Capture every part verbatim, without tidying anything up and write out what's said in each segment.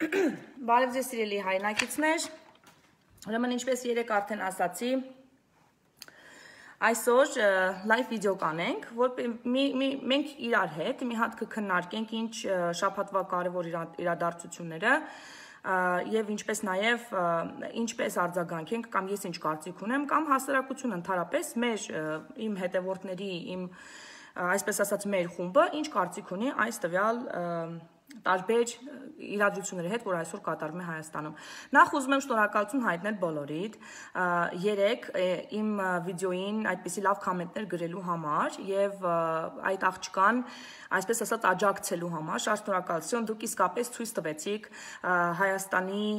Բարև ձեզ սիրելի հայրենակիցներ, ուրեմն ինչպես երեկ արդեն ասացի, այսօր լայվ վիդեո կանենք, որ մենք իրար հետ մի հատ կքննարկենք ինչ շաբաթվա կարևոր իրադարձությունները եւ ինչպես նաեւ ինչպես արձագանքենք կամ ես ինչ կարծիք ունեմ կամ հասարակությունը ընդհանրապես մեր իմ հետևորդների իմ այսպես ասած մեր խումբը ինչ կարծիք ունի այս տվյալ տարբեր իրադրությունների հետ, որ այսօր կատարվում է Հայաստանում։ Նախ ուզում եմ շնորհակալություն հայտնել բոլորիդ, երեք իմ վիդեոին այդպիսի լավ կոմենտներ գրելու համար եւ այդ աղջկան, այսպես ասած, աջակցելու համար, շատ շնորհակալություն, դուք իսկապես ցույց տվեցիք Հայաստանի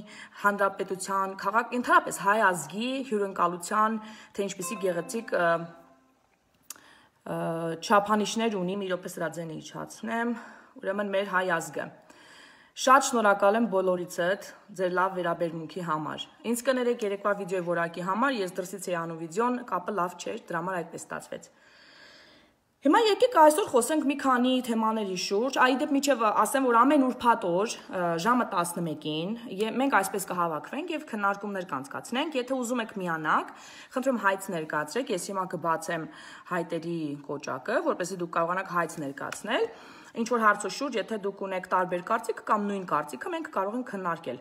Հանրապետության քաղաք, ընդհանրապես հայ ազգի հյուրընկալության, թե ինչպիսի գեղեցիկ չափանիշներ ունի, մի րոպե սրա ձենը իջացնեմ, ուրեմն մեր հայ ազգը։ Շատ շնորհակալ եմ բոլորիցդ ձեր լավ վերաբերմունքի համար։ Ինձ կներեք երեկվա վիդեոյի որակի համար, ես դրսից էի անում վիդեոն, կապը լավ չէր, դրա համար այդպես ստացվեց։ Հիմա եկեք այսօր խոսենք մի քանի թեմաների շուրջ, այ դեպ միջև ասեմ, որ ամեն ուրբաթ օր ժամը տասնմեկին մենք այսպես կհավաքվենք եւ քննարկումներ կանցկացնենք, եթե ուզում եք միանաք, խնդրում հայց ներկայացրեք, ես հիմա կբացեմ հայտերի կոճակը, որպեսզի դուք կարողանաք հայց ներկայացնել։ Ինչ որ հարցը շուրջ, եթե դուք ունեք տարբեր կարծիք կամ նույն կարծիքը, մենք կարող ենք քննարկել։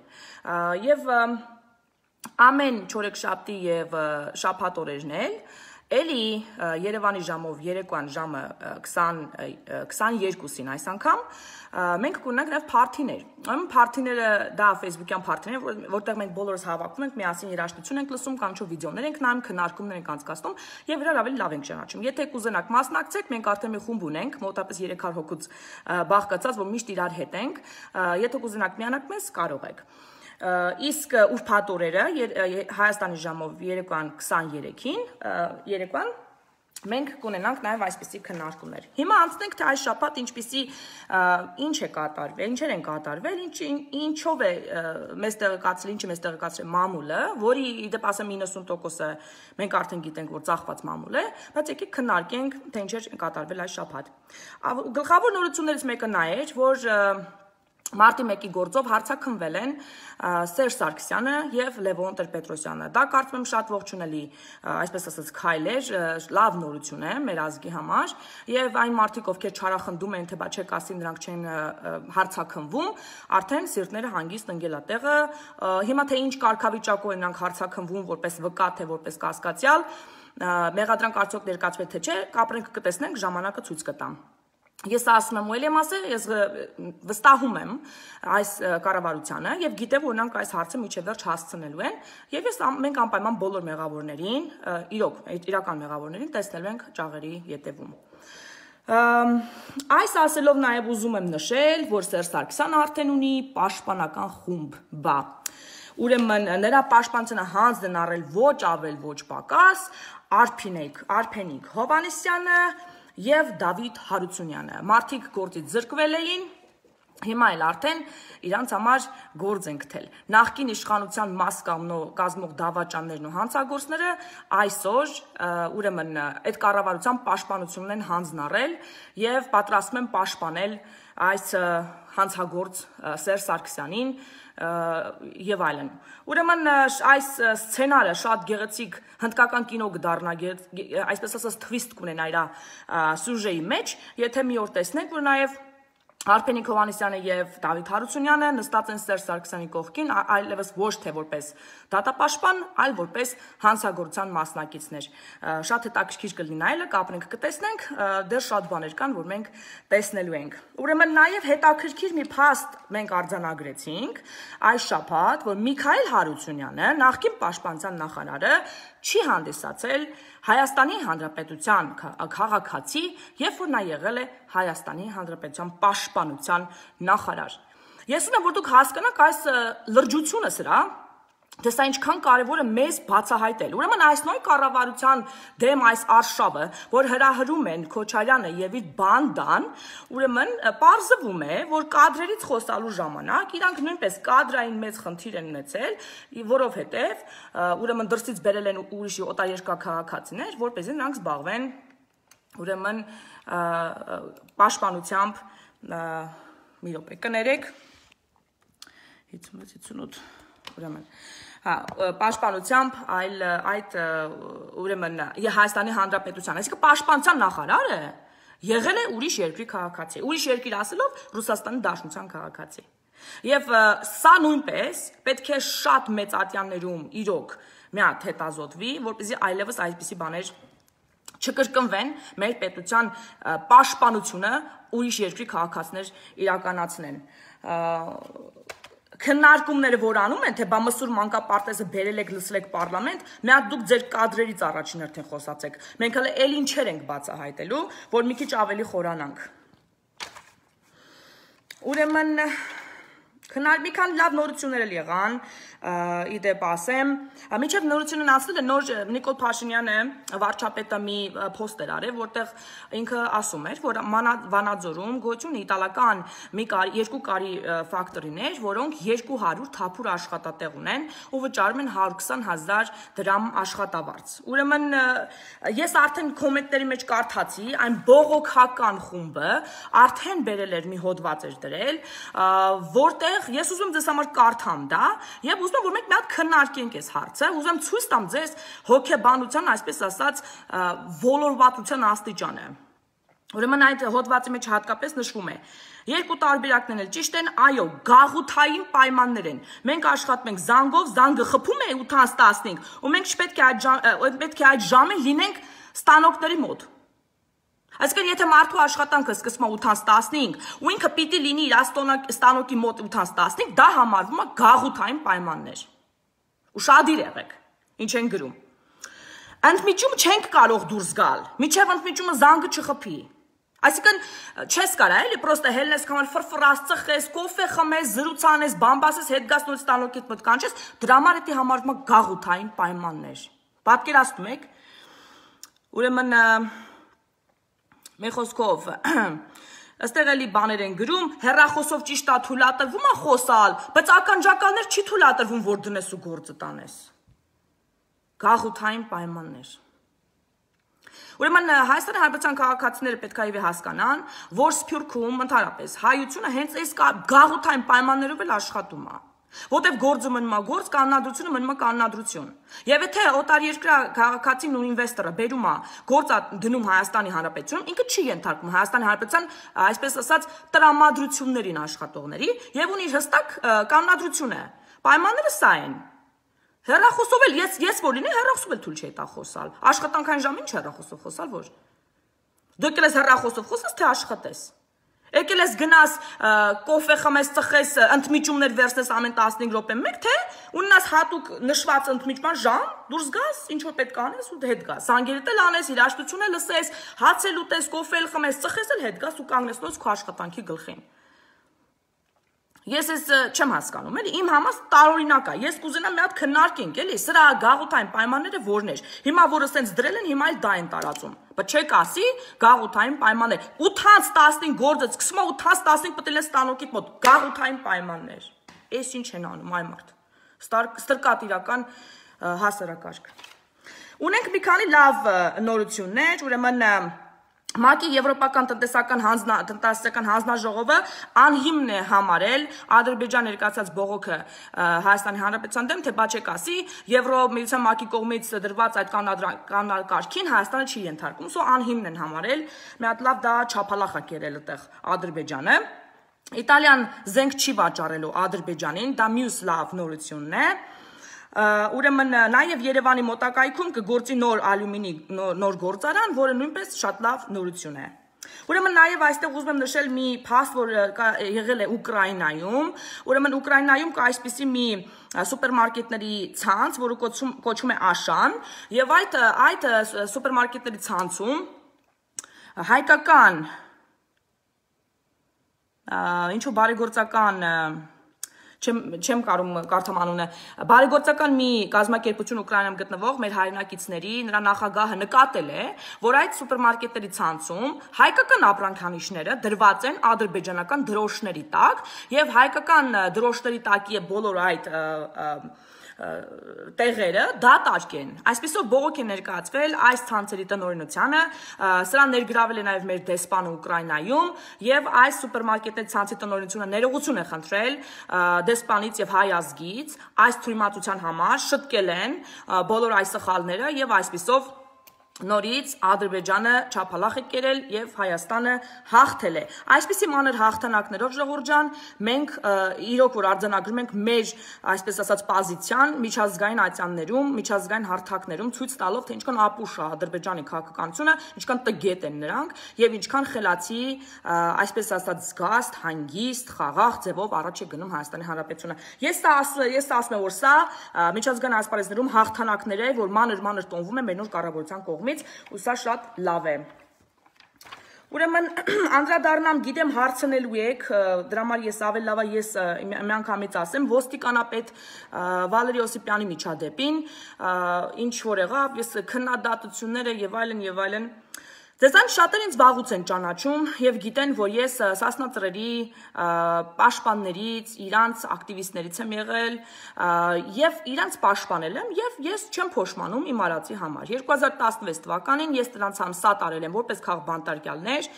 Եվ ամեն չորեքշաբթի եւ շաբաթ օրերն էլ Էլի Երևանի ժամով երեկոյան ժամը քսաներկուսին այս անգամ մենք կունենանք նաև փարթիներ։ Ուրեմն փարթիները դա Facebook-յան փարթիներ, որտեղ մենք բոլորս հավաքվում ենք, միասին երաժշտություն ենք լսում կամ ինչ-որ վիդեոներ ենք նայում, քննարկումներ ենք անցկացնում եւ իրար ավելի լավ ենք ճանաչում։ Եթե կուզենաք մասնակցեք, մենք արդեն մի խումբ ունենք, մոտավորապես երեք հարյուր հոգուց բաղկացած, որ միշտ իրար հետ ենք։ Եթե կուզենաք միանաք մեզ, կարող եք։ Իսկ ուրբաթ օրերը Հայաստանի ժամով երեկոյան քսաներեքին երեկոյան մենք կունենանք նաև այսպիսի քննարկումներ։ Հիմա անցնենք թե այս շաբաթ ինչպիսի ինչ է կատարվել, ինչեր են կատարվել, ինչով է մեզ տեղեկացրել, ինչ է մեզ տեղեկացրել մամուլը, որի իդեպ ասեմ իննսուն տոկոսը մենք արդեն գիտենք, որ ծախված մամուլ է, բայց եկեք քննարկենք, թե ինչեր են կատարվել այս շաբաթ։ Գլխավոր նորություններից մեկը նա էր, որ Մարտի մեկի գործով հարցաքննվել են Սերժ Սարգսյանը եւ Լևոն Տեր-Պետրոսյանը։ Դա կարծում եմ շատ ողջունելի, այսպես ասած, քայլ էր, լավ նորություն է մեր ազգի համար եւ այն մարդիկ, ովքեր չարախնդում են, թե բա չեք ասի նրանք չեն հարցաքննվում, արդեն սիրտները հանգիստ ընկել է տեղը։ Հիմա թե ինչ կարգավիճակով են նրանք հարցաքննվում, որպես վկա թե որպես կասկածյալ, մեղադրանք արդյոք ներկայացվել թե չէ, կապրենք կտեսնենք, ժամանակը ցույց կտա։ Ես ասում եմ ու էլ եմ ասել, ես վստահում եմ այս կառավարությանը եւ գիտեմ, որ նրանք այս հարցը միջև վերջ հասցնելու են եւ ես մենք անպայման բոլոր մեղավորներին, իրոք, իրական մեղավորներին տեսնելու ենք ճաղերի ետևում։ Այս ասելով նաեւ ուզում եմ նշել, որ Սերժ Սարգսյանը արդեն ունի պաշտպանական խումբ, բա Ուրեմն նրա պաշտպանությունը հանձն են առել ոչ ավել, ոչ պակաս, Արփինեկ, Արփենիկ Հովհաննիսյանը եւ Դավիթ Հարությունյանը։ Մարդիկ գործից զրկվել էին, հիմա էլ արդեն իրանց համար գործ են գտել։ Նախկին իշխանության մաս կազմող դավաճաններն ու հանցագործները այսօր ուրեմն այդ կառավարության պաշտպանությունն են հանձն առել եւ պատրաստվում են պաշտպանել այս հանցագործ Սերժ Սարգսյանին եւ այլն։ Ուրեմն այս սցենարը շատ գեղեցիկ հնդկական կինո կդառնա, այսպես ասած թվիստ կունենա իր սյուժեի մեջ, եթե մի օր տեսնենք, որ նաեւ Արփենիկ Հովհաննիսյանը եւ Դավիթ Հարությունյանը նստած են Սերժ Սարգսյանի կողքին, այլևս ոչ թե որպես դատապաշտպան, այլ որպես հանցագործության մասնակիցներ։ Շատ հետաքրքիր կլինի նայելը, կապրենք կտեսնենք, դեռ շատ բաներ կան, որ մենք տեսնելու ենք։ Ուրեմն նաեւ հետաքրքիր մի փաստ մենք արձանագրեցինք այս շաբաթ, որ Միքայել Հարությունյանը, նախկին պաշտպանության նախարարը, չի հանդիսացել Հայաստանի Հանրապետության քաղաքացի, երբ որ նա եղել է Հայաստանի Հանրապետության պաշտպանության նախարար։ Ես ունեմ, որ դուք հասկանաք այս լրջությունը սրա, թե սա ինչքան կարևոր է մեզ բացահայտել։ Ուրեմն այս նույն կառավարության դեմ այս արշավը, որ հրահրում են Քոչարյանը եւ իր բանդան, ուրեմն պարզվում է, որ կադրերից խոսալու ժամանակ իրանք նույնպես կադրային մեծ խնդիր են ունեցել, որովհետեւ ուրեմն դրսից բերել են ուրիշի օտարերկրյա քաղաքացիներ, որպեսզի նրանք զբաղվեն ուրեմն պաշտպանությամբ մի րոպե կներեք հիսունվեց հիսունութ ուրեմն հա պաշտպանությամբ այլ այդ ուրեմն Հայաստանի Հանրապետության այսինքն պաշտպանության նախարարը եղել է ուրիշ երկրի քաղաքացի ուրիշ երկիր ասելով Ռուսաստանի Դաշնության քաղաքացի եւ սա նույնպես պետք է շատ մեծ ատյաններում իրոք մի հատ հետազոտվի որպեսզի այլևս այսպիսի բաներ չկրկնվեն մեր պետության պաշտպանությունը ուրիշ երկրի քաղաքացիներ իրականացնեն քննարկումները որ անում են թե բա Մսուր մանկապարտեզը բերել եք լսել եք պարլամենտ մի հատ դուք ձեր կադրերից առաջին հերթին խոսացեք մենք հələ էլ ինչեր ենք բացահայտելու որ մի քիչ ավելի խորանանք ուրեմն քննարկի մի քանի լավ նորություններ էլ եղան իդեպ ասեմ մինչև նորությունն անցնել է նոր Նիկոլ Փաշինյանը վարչապետը մի post էր արել որտեղ ինքը ասում էր որ Վանաձորում գոյություն իտալական մի երկու կարի ֆակտորիներ որոնք երկու հարյուր թափուր աշխատատեղ ունեն ու վճարում են հարյուր քսան հազար դրամ աշխատավարձ ուրեմն ես արդեն կոմենտների մեջ կարդացի այն բողոքական խումբը արդեն բերել էր մի հոդված էր դրել որտեղ ես ուզում եմ ձեզ համար կարդամ դա եւ ուզում եմ որ մենք մի հատ քննարկենք այս հարցը ուզում եմ ցույց տամ ձեզ հոգեբանության այսպես ասած ոլորվածության աստիճանը ուրեմն այդ հոդվածի մեջ հատկապես նշվում է երկու տարբերակներն էլ ճիշտ են այո գաղութային պայմաններ են մենք աշխատում ենք զանգով զանգը խփում է ութ տասնհինգ ու մենք չպետք է այդ պետք է այդ ժամին լինենք ստանոկների մոտ Այսինքն եթե մարդու աշխատանքը սկսվում է ութ տասնհինգ ու ինքը պիտի լինի իր ստանոկի մոտ ութ տասնհինգ դա համարվում է գաղութային պայմաններ ու շատ եղեք ինչ են գրում Ընդմիջում չենք կարող դուրս գալ միջև ընդմիջումը զանգը չխփի Այսինքն չես կարա էլի պրոստը հելնես կամալ ֆրֆրաս ծխես կոֆե խմես զրուցանես բամբասես հետ գաս նոր ստանոկիդ մոտ կանչես դրա համար էդի համարվում է գաղութային պայմաններ Պատկերացնում եք Ուրեմն Մի խոսքով Այստեղ էլի բաներ են գրում հեռախոսով ճիշտ է թույլատրվում է խոսալ բայց ականջակալներ չի թույլատրվում որ դնես ու գործը տանես Գաղութային պայմաններ Ուրեմն Հայաստանի Հանրապետության քաղաքացիները պետք է հասկանան որ Սփյուռքում ընդհանրապես հայությունը հենց այս գաղութային պայմաններով էլ աշխատում է Որտեվ գործը մնում է գործ, կանոնադրությունը մնում է կանոնադրություն։ Եվ եթե օտարերկրյա քաղաքացին ու ինվեստորը բերում է գործ դնում Հայաստանի Հանրապետությունում, ինքը չի ենթարկվում Հայաստանի Հանրապետության, այսպես ասած, տրամադրություններին աշխատողների եւ ունի հստակ կանոնադրությունը։ Պայմանները սա են։ Հեռախոսով էլ ես ես որ լինի հեռախոսով էլ թույլ չի տա խոսալ։ Աշխատանքային ժամին չէ հեռախոսով խոսալ որ։ Դու եկել ես հեռախոսով խոսես թե աշխատես։ Եկել ես գնաս կոֆե խմես, ծխես, ընդմիջումներ վերցնես ամեն տասնհինգ րոպե մեկ, թե ունենաս հատուկ նշված ընդմիջման ժամ, դուրս գաս, ինչ որ պետք անես ու հետ գաս։ Զանգերդ էլ անես, երաժշտություն էլ լսես, հաց էլ ուտես, կոֆե էլ խմես, ծխես էլ հետ գաս ու կանգնես քո աշխատանքի գլխին։ Ես ես չեմ հասկանում, էլի իմ համար տարօրինակ է։ Ես կուզենամ մի հատ քննարկենք, էլի, սրա գաղութային պայմանները որներ։ Հիմա որը սենց դրել են, հիմա էլ դա են տարածում։ Բայց չեք ասի գաղութային պայմաններ։ ութ տասնհինգ գործը սկսում է ութ տասնհինգ պտել է ստանոկիդ մոտ գաղութային պայմաններ։ Էս ինչ են անում այ մարդ։ Ստրկատիրական հասարակարգ։ Ունենք մի քանի լավ նորություններ, ուրեմն ՄԱԿ-ի Եվրոպական տնտեսական տնտեսական հանձնաժողովը անհիմն է համարել Ադրբեջան ներկայացած բողոքը Հայաստանի Հանրապետության դեմ, թե բա չեք ասի, Եվրոմիության ՄԱԿ-ի կողմից դրված այդ կանոնակարգին Հայաստանը չի ենթարկում, սո անհիմն են համարել, մի հատ լավ դա չափալախ է կերել այդտեղ Ադրբեջանը։ Իտալիան զենք չի վաճառելու Ադրբեջանին, դա մյուս լավ նորությունն է։ Ուրեմն նաև Երևանի մոտակայքում կգործի նոր ալյումինի նոր գործարան, որը նույնպես շատ լավ նորություն է։ Ուրեմն նաև այստեղ ուզում եմ նշել մի փաստ, որ եղել է Ուկրաինայում, ուրեմն Ուկրաինայում կա այսպիսի մի սուպերմարկետների ցանց, որը կոչվում է Աշան, եւ այդ այդ սուպերմարկետների ցանցում հայկական ինչու բարեգործական չեմ կարում կարդամ անունը բարեգործական մի կազմակերպություն Ուկրաինայում գտնվող մեր հայրենակիցների նրա նախագահը նկատել է որ այդ սուպերմարկետների ցանցում հայկական ապրանքանիշները դրված են ադրբեջանական դրոշների տակ եւ հայկական դրոշների տակի է բոլոր այդ տեղերը դատարկ են։ Այսպեսով բողոք է ներկայացվել այս ցանցերի տնօրինությանը, սրան ներգրավել է նաև մեր դեսպանը Ուկրաինայում եւ այս սուպերմարկետների ցանցի տնօրինությունը ներողություն է խնդրել դեսպանից եւ հայ ազգից այս թույլտվության համար, շտկել են բոլոր այս սխալները եւ այսպեսով նորից Ադրբեջանը չափալախ է կերել եւ Հայաստանը հաղթել է։ Այսպիսի մանր հաղթանակներով ժողովուրդ ջան, մենք իրոք որ արձանագրում ենք մեր, այսպես ասած, պոզիցիան միջազգային ատյաններում, միջազգային հարթակներում ցույց տալով, թե ինչքան ապուշ է Ադրբեջանի քաղաքականությունը, ինչքան տգետ են նրանք եւ ինչքան խելացի, այսպես ասած, զգաստ, հանգիստ, խաղաղ ձևով առաջ է գնում Հայաստանի Հանրապետությունը։ Ես սա ես ասում եմ, որ սա միջազգային ասպարեզներում հաղթանակներ է, որ մանր-մանր տոնվում է մեր նոր կառավարության կողմից, ու սա շատ լավ է։ Ուրեմն անդրադառնամ, գիտեմ հարցնելու եք, դրա համար ես ավելի լավ է ես միանգամից ասեմ, ոստիկանապետ Վալերի Օսիպյանի միջադեպին, ինչ որ եղավ, ես քննադատությունները եւ այլն եւ այլն Ձեզանից շատերը ինձ վաղուց են ճանաչում եւ գիտեն, որ ես Սասնա ծռերի պաշտպաններից, իրանց ակտիվիստներից եմ եղել եւ իրանց պաշտպանել եմ եւ ես չեմ փոշմանում իմ արածի համար։ երկու հազար տասնվեց թվականին ես նրանց համ սա տարել եմ որպես քաղբանտարկյալներ,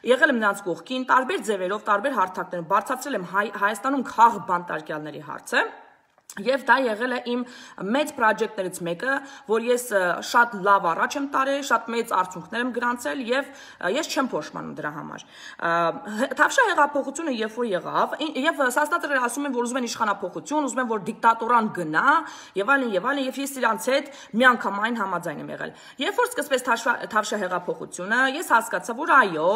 եղել եմ նրանց կողքին, տարբեր ձևերով, տարբեր հարթակներով բարձրացրել եմ Հայաստանում քաղբանտարկյալների հարցը։ Եվ դա եղել է իմ մեծ պրոջեկտներից մեկը, որ ես շատ լավ առաջ եմ տարել, շատ մեծ արդյունքներ եմ գրանցել եւ ես չեմ փոշմանում դրա համար։ Թավշյա հեղափոխությունը երբ որ եղավ, եւ Սասնա ծռերը ասում են, որ ուզում են իշխանափոխություն, ուզում են, որ դիկտատորան գնա, եւ այլն եւ այլն, եւ ես իրանց հետ միանգամայն համաձայն եմ եղել։ Երբ որ սկսվեց Թավշյա հեղափոխությունը, ես հասկացա, որ այո,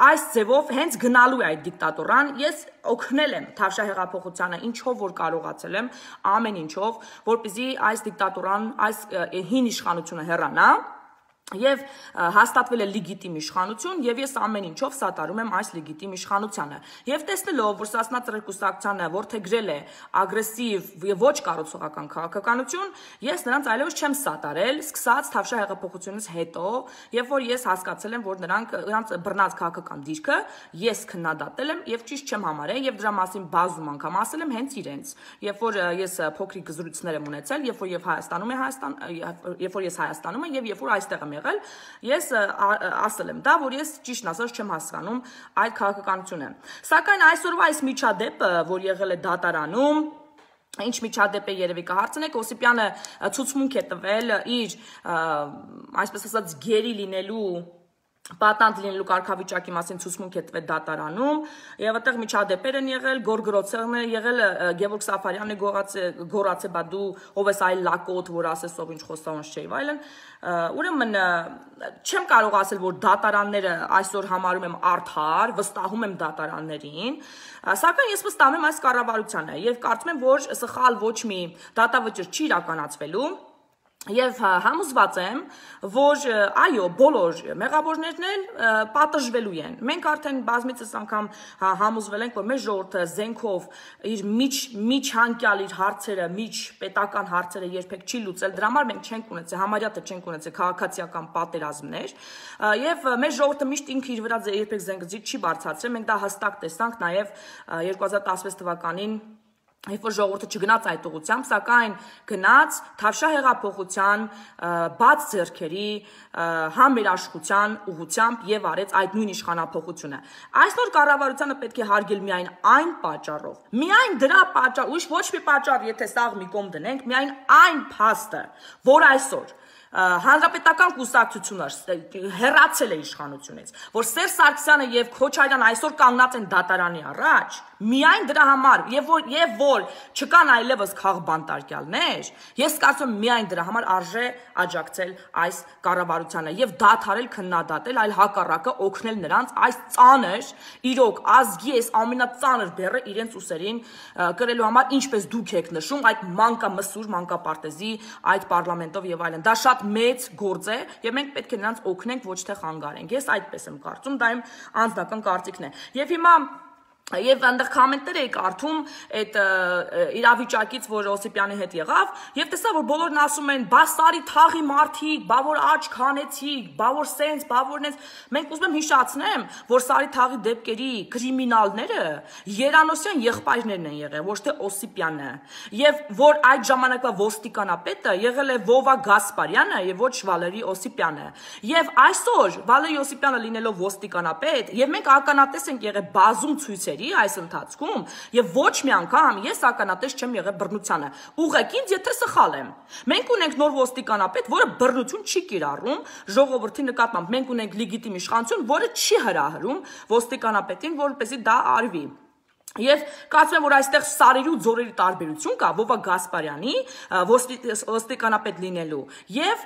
այս ձևով հենց գնալու է այդ դիկտատորան, ես օգնել եմ Թավշյա հեղափոխությանը, ինչով որ կարողացել եմ ամեն ինչով, որպեսզի այս դիկտատորան, այս հին իշխանությունը հեռանա եւ հաստատվել է լեգիտիմ իշխանություն եւ ես ամեն ինչով սատարում եմ այս լեգիտիմ իշխանությանը եւ տեսնելով որ Սասնա ծռեր կուսակցությանը որդեգրել է ագրեսիվ եւ ոչ կառուցողական քաղաքականություն ես նրանց այլևս չեմ սատարել սկսած Թավշյա հեղափոխությունից հետո երբ որ ես հասկացել եմ որ նրանք նրանց բռնած քաղաքական դիրքը ես քննադատել եմ եւ ճիշտ չեմ համարել եւ դրա մասին բազում անգամ ասել եմ հենց իրենց երբ որ ես փոքրիկ զրույցներ եմ ունեցել երբ որ եւ Հայաստանում է Հայաստան երբ որ ես Հայաստանում եմ եւ երբ որ այստեղ եմ եղել, ես ասել եմ դա, որ ես ճիշտն ասած չեմ հասկանում այդ քաղաքականությունը։ Սակայն այսօրվա այս միջադեպը, որ եղել է դատարանում, ինչ միջադեպ է երևի կհարցնեք, Օսիպյանը ցուցմունք է տվել իր, այսպես ասած, գերի լինելու պատանդ լինելու կարգավիճակի մասին ցուցմունք է տվել դատարանում եւ այդտեղ միջադեպեր են եղել, գորգրոցերն է եղել, Գևորգ Սաֆարյանն է գոռացել, բա դու ով ես այլ լակոտ, որ ասես ով ինչ խոստանոց չէ, այլն։ Ուրեմն չեմ կարող ասել, որ դատարանները այսօր համարում եմ արդար, վստահում եմ դատարաններին, սակայն ես վստահում եմ այս կառավարությանը եւ կարծում եմ, որ սխալ ոչ մի դատավճիռ չի իրականացվելու Եվ համոզված եմ, որ այո, բոլոր մեղավորներն էլ պատժվելու են։ Մենք արդեն բազմիցս անգամ համոզվել ենք, որ մեր ժողովուրդը զենքով իր միջ միջանկյալ իր հարցերը, միջ պետական հարցերը երբեք չի լուծել, դրա համար մենք չենք ունեցել, համարյա թե չենք ունեցել քաղաքացիական պատերազմներ, եւ մեր ժողովուրդը միշտ ինքը իր վրա երբեք զենքզիթ չի բարձրացրել, մենք դա հստակ տեսանք նաեւ երկու հազար տասնվեց թվականին Երբ որ ժողովուրդը չգնաց այդ ուղղությամբ, սակայն գնաց Թավշյա հեղափոխության բաց ձեռքերի համերաշխության ուղղությամբ եւ արեց այդ նույն իշխանափոխությունը։ Այսօր կառավարությանը պետք է հարգել միայն այն պատճառով, միայն դրա պատճառ, ուրիշ ոչ մի պատճառ, եթե սաղ մի կողմ դնենք, միայն այն փաստը, որ այսօր Հանրապետական կուսակցությունը հեռացել է իշխանությունից, որ Սերժ Սարգսյանը եւ Քոչարյանն այսօր կանգնած են դատարանի առաջ, միայն դրա համար, եւ որ եւ որ չկան այլևս քաղբանտարկյալներ, ես կարծում եմ միայն դրա համար արժե աջակցել այս կառավարությանը եւ դադարել քննադատել, այլ հակառակը օգնել նրանց այս ծանր, իրոք ազգի այս ամենածանր բեռը իրենց ուսերին կրելու համար, ինչպես դուք եք նշում, այդ մանկամսուր, մանկապարտեզի այդ պարլամենտով եւ այլն։ Դա շատ մեծ գործ է եւ մենք պետք է նրանց օգնենք, ոչ թե խանգարենք։ Ես այդպես եմ կարծում, դա իմ անձնական կարծիքն է։ Եվ հիմա Եվ այնտեղ կոմենտներ էի կարդում այդ իրավիճակից, որ Օսիպյանի հետ եղավ, եւ տեսա, որ բոլորն ասում են, բա սարի թաղի մարդիկ, բա որ աչք հանեցիք, բա որ սենց, բա որ նենց։ Մենք ուզում եմ հիշացնեմ, որ սարի թաղի դեպքերի կրիմինալները Երանոսյան եղբայրներն են եղել, ոչ թե Օսիպյանը, եւ որ այդ ժամանակվա ոստիկանապետը եղել է Վովա Գասպարյանը եւ ոչ Վալերի Օսիպյանը։ Եվ այսօր Վալերի Օսիպյանը լինելով ոստիկանապետ, եւ մենք ականատես ենք եղել բազում ցույցերի այս ընթացքում եւ ոչ մի անգամ ես ականատես չեմ եղել բռնությանը։ Ուղղակի եթե սխալ եմ։ Մենք ունենք նոր ոստիկանապետ, որը բռնություն չի կիրառում ժողովրդի նկատմամբ։ Մենք ունենք լեգիտիմ իշխանություն, որը չի հրահրում ոստիկանապետին, որպեսզի դա արվի։ Եվ կարծում եմ, որ այստեղ սարերի ու ձորերի տարբերություն կա Վովա Գասպարյանի ոստիկանապետ լինելու եւ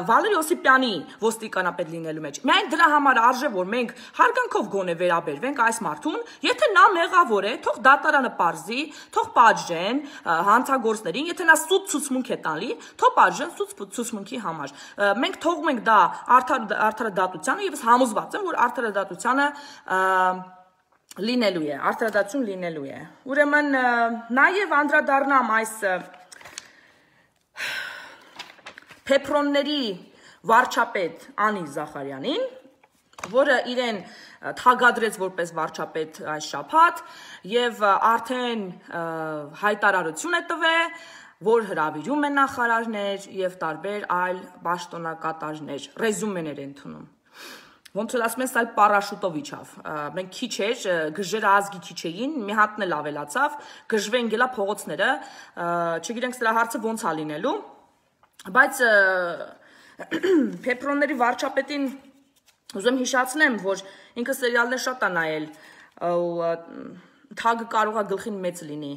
Վալերի Օսիպյանի ոստիկանապետ լինելու մեջ։ Միայն դրա համար արժե, որ մենք հարգանքով գոնե վերաբերվենք այս մարդուն, եթե նա մեղավոր է, թող դատարանը պարզի, թող պատժեն հանցագործներին, եթե նա սուտ ցուցմունք է տալի, թող պատժեն սուտ ցուցմունքի համար։ Մենք թողում ենք դա արդարադատությանը եւ ես համոզված եմ, որ արդարադատությանը լինելու է, արդարադատություն լինելու է։ Ուրեմն նաև անդրադառնամ այս Փեփրոնների վարչապետ Անի Զախարյանին, որը իրեն թագադրեց որպես վարչապետ այս շաբաթ եւ արդեն հայտարարություն է տվել, որ հրավիրում է նախարարներ եւ տարբեր այլ պաշտոնակատարներ, ռեզումեներ են ընդունում։ Ոնց որ ասում են, սալ պարաշուտով իջավ։ Մենք քիչ էր, գժերը ազգի քիչ էին, մի հատն էլ ավելացավ, գժվեն գելա փողոցները, չգիտենք սրա հարցը ոնց ա լինելու, բայց Փեփրոնների վարչապետին ուզում հիշացնեմ, որ ինքը սերիալներ շատ ա նայել, թագը կարող է գլխին մեծ լինի։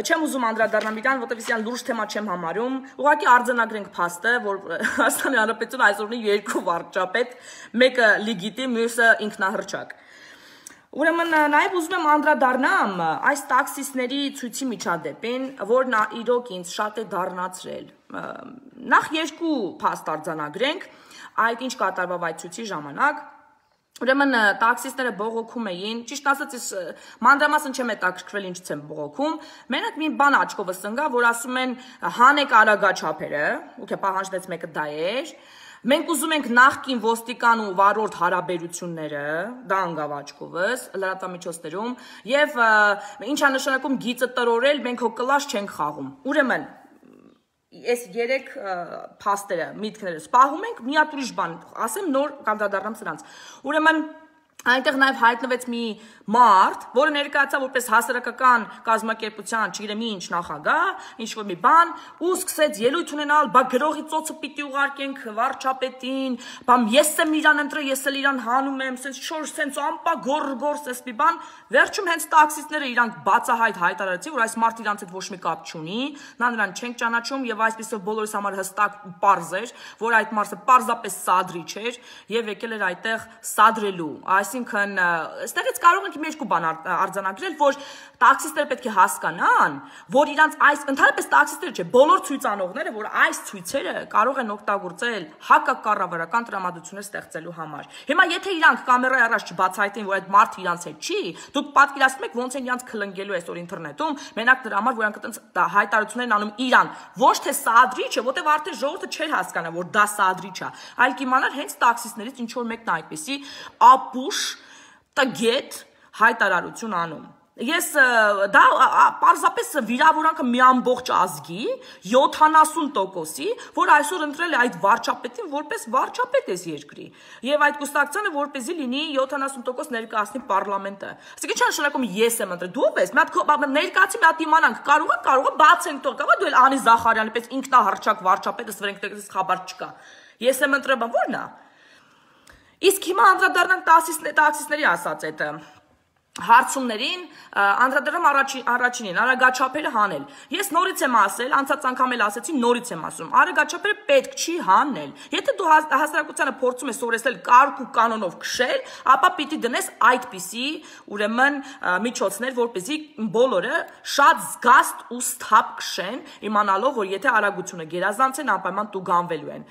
Չեմ ուզում անդրադառնալ իրան, որտեղ իսկական լուրջ թեմա չեմ համարում։ Ուղղակի արձանագրենք փաստը, որ Հայաստանի Հանրապետությունը այսօր ունի երկու վարչապետ, մեկը լեգիտիմ, մյուսը ինքնահռչակ։ Ուրեմն նաև ուզում եմ անդրադառնամ այս տաքսիստների ցույցի միջադեպին, որն իրոք ինձ շատ է դառնացրել։ Նախ երկու փաստ արձանագրենք, այդ ինչ կատարվավ այդ ցույցի ժամանակ։ Ուրեմն տաքսիստները բողոքում էին, ճիշտ ասած մանրամասն չեմ հետաքրքրվել ինչից են բողոքում, մենակ մի բան աչքովս ընկա, որ ասում են հանեք արագաչափերը, ուքե պահանջներից մեկը դա էր, մենք ուզում ենք նախկին ոստիկան ու վարորդ հարաբերությունները, դա ընկավ աչքովս, լրատվամիջոցներում, եւ ինչա նշանակում գիծը տրորել, մենք հո կլաշ չենք խաղում։ Ուրեմն Ես երեք փաստերը, միտքները սպահում ենք, մի հատ ուրիշ բան, ասեմ նոր կանդրադառնամ սրանց։ Ուրեմն այնտեղ նաև հայտնվեց մի մարդ, որը ներկայացավ որպես հասարակական կազմակերպության, չգիտեմ ինչ նախագահ, ինչ որ մի բան, ու սկսեց ելույթ ունենալ, բա գրողի ծոցը պիտի ուղարկենք վարչապետին, բամ ես եմ իրան ընտրել, ես էլ իրան հանում եմ, սենց շոր սենց ամպա գոր-գոր սես մի բան, վերջում հենց տաքսիստները իրանք բացահայտ հայտարարեցին, որ այս մարդը իրանց հետ ոչ մի կապ չունի, նա նրան չենք ճանաչում եւ այսպեսով բոլորիս համար հստակ պարզ էր, որ այդ մարդը պարզապես սադրիչ էր եւ եկել էր այդտեղ սադրելու, այսինքն այստեղից կարող ենք մի երկու բան արձանագրել, որ տաքսիստները պետք է հասկանան, որ իրանց այս ընդհանրապես տաքսիստները չէ, բոլոր ցույցանողները, որ այս ցույցերը կարող են օգտագործել հակակառավարական տրամադրություններ ստեղծելու համար։ Հիմա եթե իրանք կամերայի առաջ չբացահայտեն, որ այդ մարդը իրանց հետ չի, դուք պատկերացնում եք ոնց են իրանք քլնգելու այսօր ինտերնետում, մենակ դրա համար, որ իրանք այտենց հայտարարություններ են անում իրան, ոչ թե սադրիչը, որտեղ արդեն ժողովուրդը չէր հասկանա, որ դա սադրիչ է, այլ կիմանար հենց տաքսիստներից ինչ որ մեկն այդպեսի ապուշ տգետ հայտարարություն անում։ Ես դա պարզապես վիրավորանքը մի ամբողջ ազգի յոթանասուն տոկոսի, որ այսօր ընտրել է այդ վարչապետին որպես վարչապետ էս երկրի։ Եվ այդ կուսակցությանը որպեսզի լինի յոթանասուն տոկոս ներկայացնի պարլամենտը։ Այսինքն ինչ նշանակում ես եմ ընտրել, դու ես, մի հատ ներկայացի մի հատ իմանանք, կարող է, կարող է բացենք թող, կարող է դու էլ Անի Զախարյանի պես ինքնահռչակ վարչապետը սվերենքտեղից խաբար չկա։ Ես եմ ընտրել, բա ո՞րն է։ Իսկ հիմա անդրադառնանք տաքսիստների ասած այդ հարցումներին, անդրադառնամ առաջինին, արագաչափերը հանել։ Ես նորից եմ ասել, անցած անգամ էլ ասեցի, նորից եմ ասում, արագաչափերը պետք չի հանել։ Եթե դու հասարակությանը փորձում ես սովորեցնել կարգ ու կանոնով քշել, ապա պիտի դնես այդպիսի, ուրեմն միջոցներ, որպեսզի բոլորը շատ զգաստ ու սթափ քշեն, իմանալով, որ եթե արագությունը գերազանցեն, անպայման տուգանվելու են։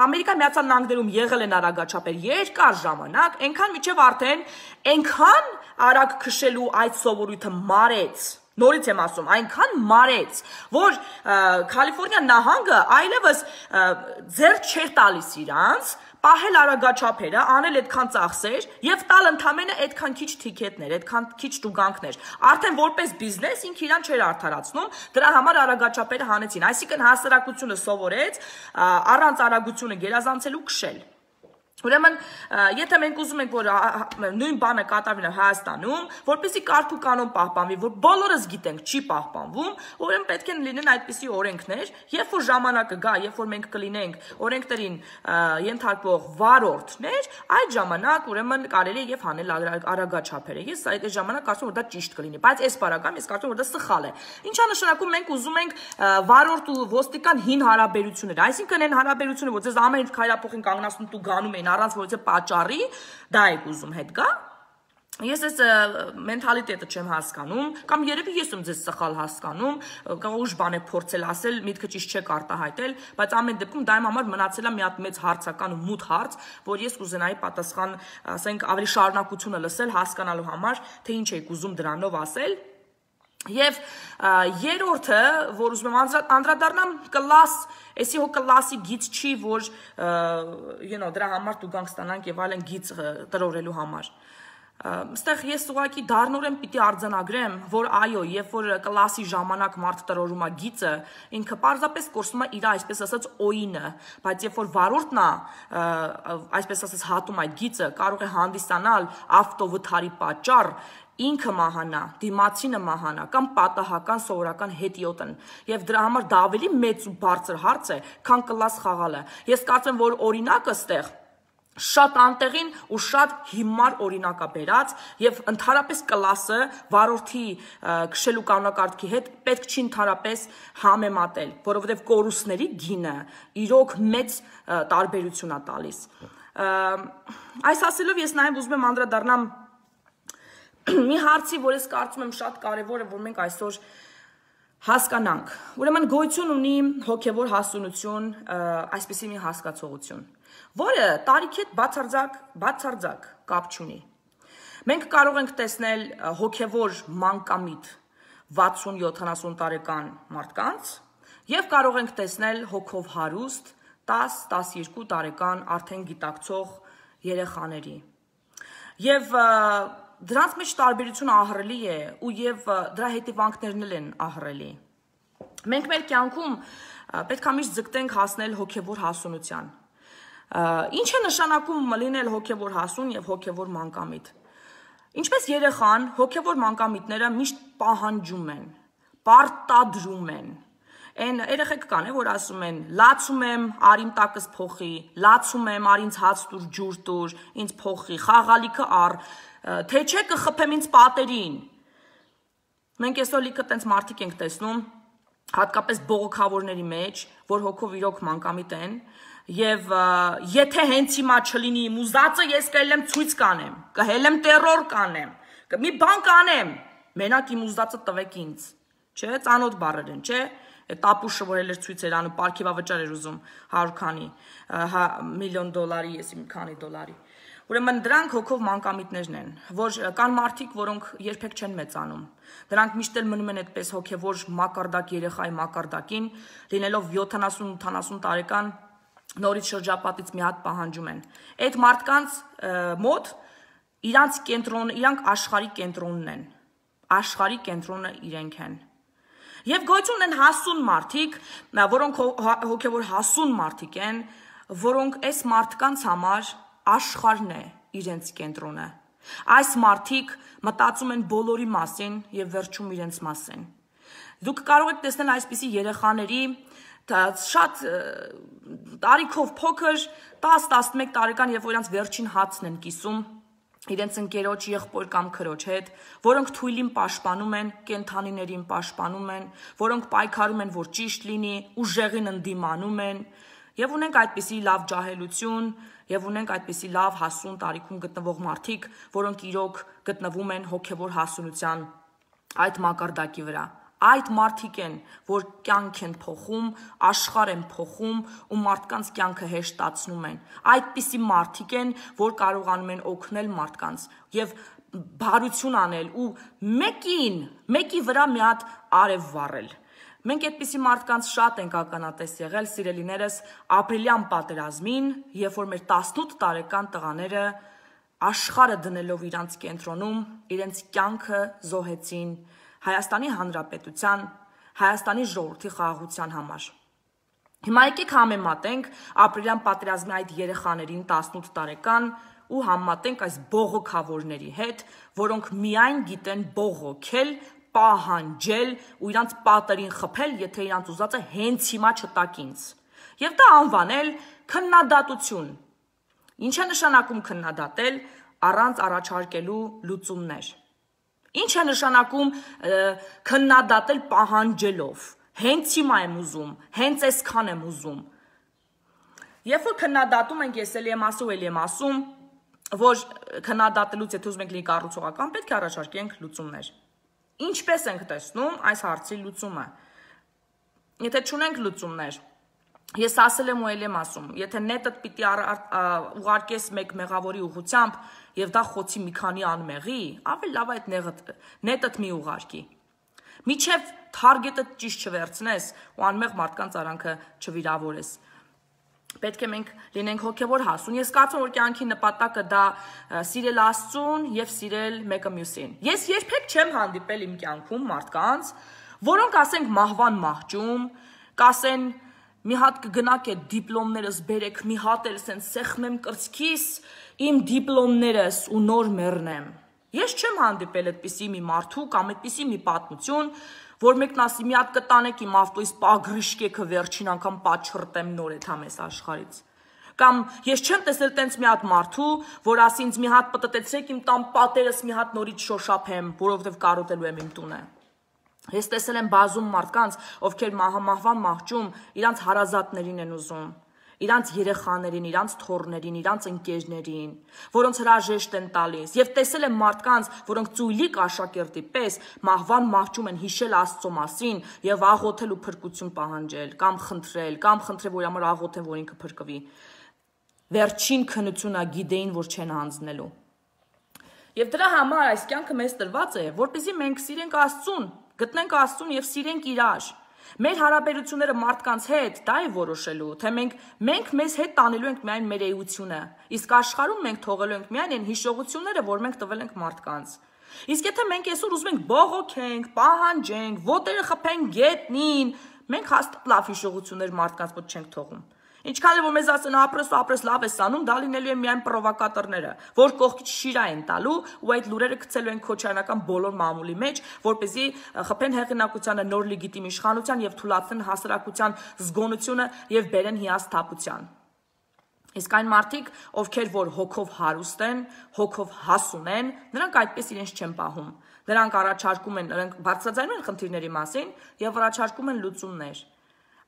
Ամերիկայի Միացյալ Նահանգներում եղել են արագաչափեր երկար ժամանակ, այնքան միջև արդեն այնքան արագ քշելու այդ սովորույթը մարեց, նորից եմ ասում, այնքան մարեց, որ Կալիֆոռնիա նահանգը այլևս ձեռք չէր տալիս իրանց, պահել արագաչափերը, անել այդքան ծախսեր եւ տալ ընդամենը այդքան քիչ թիքետներ, այդքան քիչ տուգանքներ։ Արդեն որպես բիզնես ինքը իրան չէր արդարացնում, դրա համար արագաչափերը հանեցին։ Այսինքն հասարակությունը սովորեց առանց արագությունը գերազանցելու քշել։ Ուրեմն, եթե մենք ուզում ենք, որ նույն բանը կատարվի Հայաստանում, որպեսզի կարգ ու կանոն պահպանվի, որ բոլորս գիտենք չի պահպանվում, ուրեմն պետք է լինեն այդպիսի օրենքներ, երբ որ ժամանակը գա, երբ որ մենք կլինենք օրենքներին ենթարկվող վարորդներ, այդ ժամանակ ուրեմն կարելի է եւ հանել արագաչափերը։ Ես այդ ժամանակ կարծում եմ, որ դա ճիշտ կլինի, բայց այս բaragam ես կարծում եմ, որ դա սխալ է։ Ինչա նշանակում մենք ուզում ենք վարորդ ու ոստիկան հին հարաբերություններ, այսինքն այն հարաբերությունը, որ ձեզ ամեն ինչ քայլափոխին կանգնացնում ու գանում են առանց որից է պատճառի, դա եք ուզում հետ գա։ Ես այս մենթալիտետը չեմ հասկանում, կամ երևի ես եմ ձեզ սխալ հասկանում, կարող ուժ բան է փորձել ասել, միտքը ճիշտ չեք արտահայտել, բայց ամեն դեպքում դա իմ համար մնացել է մի հատ մեծ հարցական ու մութ հարց, որ ես կուզենայի պատասխան, ասենք, ավելի շարունակությունը լսել, հասկանալու համար, թե ինչ եք ուզում դրանով ասել։ Եվ երրորդը, որ ուզում եմ անդրադառնամ, կլաս, էսի հո կլասի գիծ չի, որ դրա համար տուգանք ստանանք եւ այլն գիծ տրորելու համար։ Ստեղ ես ուղղակի դառնորեն պիտի արձանագրեմ, որ այո, երբ որ կլասի ժամանակ մարդ տրորում է գիծը, ինքը պարզապես կորսում է իր, այսպես ասած, օինը, բայց երբ որ վարորդն է, այսպես ասած, հատում այդ գիծը, կարող է հանդիսանալ ավտովթարի պատճառ, ինքը մահանա, դիմացինը մահանա, կամ պատահական սովորական հետիոտն, եւ դրա համար դա ավելի մեծ ու բարձր հարց է, քան կլաս խաղալը։ Ես կարծեմ, որ օրինակը ստեղ շատ անտեղին ու շատ հիմար օրինակ է բերած եւ ընդհանրապես կլասը վարորդի քշելու կանոնակարգի հետ պետք չի ընդհանրապես համեմատել, որովհետեւ կորուստների գինը իրոք մեծ տարբերություն է տալիս։ Այս ասելով ես նաեւ ուզում եմ անդրադառնամ մի հարցի, որ ես կարծում եմ շատ կարևոր է, որ մենք այսօր հասկանանք։ Ուրեմն գոյություն ունի հոգևոր հասունություն, այսպիսի մի հասկացողություն, որը տարիքի հետ բացարձակ, բացարձակ կապ չունի։ Մենք կարող ենք տեսնել հոգևոր մանկամիտ վաթսուն յոթանասուն տարեկան մարդկանց եւ կարող ենք տեսնել հոգով հարուստ տաս տասներկու տարեկան արդեն գիտակցող երեխաների։ Եվ դրանց մեջ տարբերությունը ահռելի է ու եւ դրա հետևանքներն են ահռելի։ Մենք մեր կյանքում պետք է միշտ ձգտենք հասնել հոգևոր հասունության։ Ինչ է նշանակում լինել հոգևոր հասուն եւ հոգևոր մանկամիտ։ Ինչպես երեխան, հոգևոր մանկամիտները միշտ պահանջում են, պարտադրում են։ Այն երեխեք կան, որ ասում են, լացում եմ, արիմ տակս փոխի, լացում եմ, արի ինձ հաց տուր, ջուր տուր, ինձ փոխի, խաղալիքը առ, թե չէ կխփեմ ինձ պատերին։ Մենք այսօր լիքը տենց մարդիկ ենք տեսնում, հատկապես բողոքավորների մեջ, որ հոգով իրոք մանկամիտ են, եւ եթե հենց հիմա չլինի իմ ուզածը, ես կհելեմ ցույց կանեմ, կհելեմ տերոր կանեմ, մի բան կանեմ, մենակ իմ ուզածը տվեք ինձ, չէ, ծանոթ բառեր են, չէ։ Տապուշը, որ էլ էր ցույց էր անում, պարգևավճար էր ուզում հարյուր քանի միլիոն դոլարի, ես իմ քանի դոլարի։ Ուրեմն դրանք հոգով մանկամիտներն են, որ կան մարդիկ, որոնք երբեք չեն մեծանում։ Դրանք միշտ էլ մնում են այդպես հոգևոր մակարդակ երեխայի մակարդակին, լինելով յոթանասուն ութանասուն տարեկան, նորից շրջապատից մի հատ պահանջում են։ Այդ մարդկանց մոտ իրանց կենտրոնը, իրանք աշխարհի կենտրոնն են։ Աշխարհի կենտրոնը իրենք են։ Եվ գոյություն են հասուն մարդիկ, որոնք հոգևոր հասուն մարդիկ են, որոնք այս մարդկանց համար աշխարհն է իրենց կենտրոնը։ Այս մարդիկ մտածում են բոլորի մասին եւ վերջում իրենց մասին։ Դուք կարող եք տեսնել այսպիսի երեխաների շատ տարիքով փոքր տաս տասնմեկ տարեկան, երբ որ իրանց վերջին հացն են կիսում, իրենց ընկերոջ, եղբոր կամ քրոջ հետ, որոնք թույլին պաշտպանում են, կենդանիներին պաշտպանում են, որոնք պայքարում են, որ ճիշտ լինի, ուժեղին ընդդիմանում են, եւ ունենք այդպիսի լավ ջահելություն, եւ ունենք այդպիսի լավ հասուն տարիքում գտնվող մարդիկ, որոնք իրոք գտնվում են հոգեվոր հասունության այդ մակարդակի վրա։ Այդ մարդիկ են, որ կյանք են փոխում, աշխարհ են փոխում ու մարդկանց կյանքը հեշտացնում են։ Այդպիսի մարդիկ են, որ կարողանում են օգնել մարդկանց եւ բարություն անել ու մեկին, մեկի վրա մի հատ արև վառել։ Մենք այդպիսի մարդկանց շատ ենք ականատես եղել, սիրելիներս, ապրիլյան պատերազմին, երբ որ մեր տասնութ տարեկան տղաները աշխարհը դնելով իրանց կենտրոնում, իրենց կյանքը զոհեցին Հայաստանի Հանրապետության, Հայաստանի ժողովրդի խաղաղության համար։ Հիմա եկեք համեմատենք ապրիլյան պատերազմի այդ երեխաներին տասնութ տարեկան ու համեմատենք այս բողոքավորների հետ, որոնք միայն գիտեն բողոքել, պահանջել ու իրանց պատերին խփել, եթե իրանց ուզածը հենց հիմա չտակ ինձ։ Եվ դա անվանել քննադատություն։ Ինչ է նշանակում քննադատել առանց առաջարկելու լուծումներ։ Ինչ է նշանակում քննադատել պահանջելով։ Հենց հիմա եմ ուզում, հենց այսքան եմ ուզում։ Երբ որ քննադատում ենք, ես էլի եմ ասում, էլի եմ ասում, որ քննադատելուց եթե ուզում ենք լինի կառուցողական, պետք է առաջարկենք լուծումներ։ Ինչպես ենք տեսնում այս հարցի լուծումը։ Եթե չունենք լուծումներ, ես ասել եմ ու էլի եմ ասում, եթե նետդ պիտի ուղարկես մեկ մեղավորի ուղղությամբ եւ դա խոցի մի քանի անմեղի, ավելի լավ այդ նետդ մի ուղարկի։ Միջև թարգետը ճիշտ չվերցնես ու անմեղ մարդկանց արանքը չվիրավորես։ Պետք է մենք լինենք հոգևոր հասուն։ Ես կարծում որ կյանքի նպատակը դա սիրել Աստծուն եւ սիրել մեկը մյուսին։ Ես երբեք չեմ հանդիպել իմ կյանքում մարդկանց, որոնք ասենք մահվան մահճում, կասեն մի հատ կգնաք այդ դիպլոմներս բերեք, մի հատ էլ սենց սեղմեմ կրծքիս իմ դիպլոմներս ու նոր մեռնեմ։ Ես չեմ հանդիպել այդպիսի մի մարդու կամ այդպիսի մի պատմություն, որ մեկն ասի մի հատ կտանեք իմ ավտոյից պագրիշկեքը վերջին անգամ պատչրտեմ նոր այդ համես աշխարից։ Կամ ես չեմ տեսել տենց մի հատ մարդու, որ ասի ինձ մի հատ պտտեցրեք իմ տան պատերս մի հատ նորից շոշափեմ, որովհետև կարոտելու եմ իմ տունը։ Ես տեսել եմ բազում մարդկանց, ովքեր մահվան մահճում իրանց հարազատներին են ուզում, իրանց երեխաներին, իրանց թոռներին, իրանց ընկերներին, որոնց հրաժեշտ են տալիս, եւ տեսել եմ մարդկանց, որոնք ծույլիկ աշակերտի պես մահվան մահճում են հիշել Աստծո մասին եւ աղոթել ու փրկություն պահանջել, կամ խնդրել, կամ խնդրել, որ համար աղոթեն, որ ինքը փրկվի։ Վերջին քննությունա գիտեին, որ չեն հանձնելու։ Եվ դրա համար այս կյանքը մեզ տրված է, որպեսզի մենք սիրենք Աստծուն, գտնենք Աստծուն եւ սիրենք իրար։ Մեր հարաբերությունները մարդկանց հետ դա է որոշելու, թե մենք մենք մեզ հետ տանելու ենք միայն մեր էությունը, իսկ աշխարհում մենք թողելու ենք միայն այն հիշողությունները, որ մենք տվել ենք մարդկանց։ Իսկ եթե մենք այսօր ուզում ենք բողոքենք, պահանջենք, ոտերը խփենք գետնին, մենք հաստատ լավ հիշողություններ մարդկանց մոտ չենք թողում։ Ինչքան էլ որ մեզ ասեն ապրես ու ապրես լավ ես անում, դա լինելու է միայն պրովոկատորները, որ կողքից շիրա են տալու ու այդ լուրերը գցելու են քոչարանական բոլոր մամուլի մեջ, որպեսզի խփեն հեղինակությանը, նոր լեգիտիմ իշխանության եւ թույլատնեն հասարակության զգոնությունը եւ բերեն հիասթափության։ Իսկ այն մարդիկ, ովքեր որ հոգով հարուստ են, հոգով հասուն են, նրանք այդպես իրենց չեն պահում։ Նրանք առաջարկում են, նրանք բարձրաձայնում են խնդիրների մասին եւ առաջարկում են լուծումներ։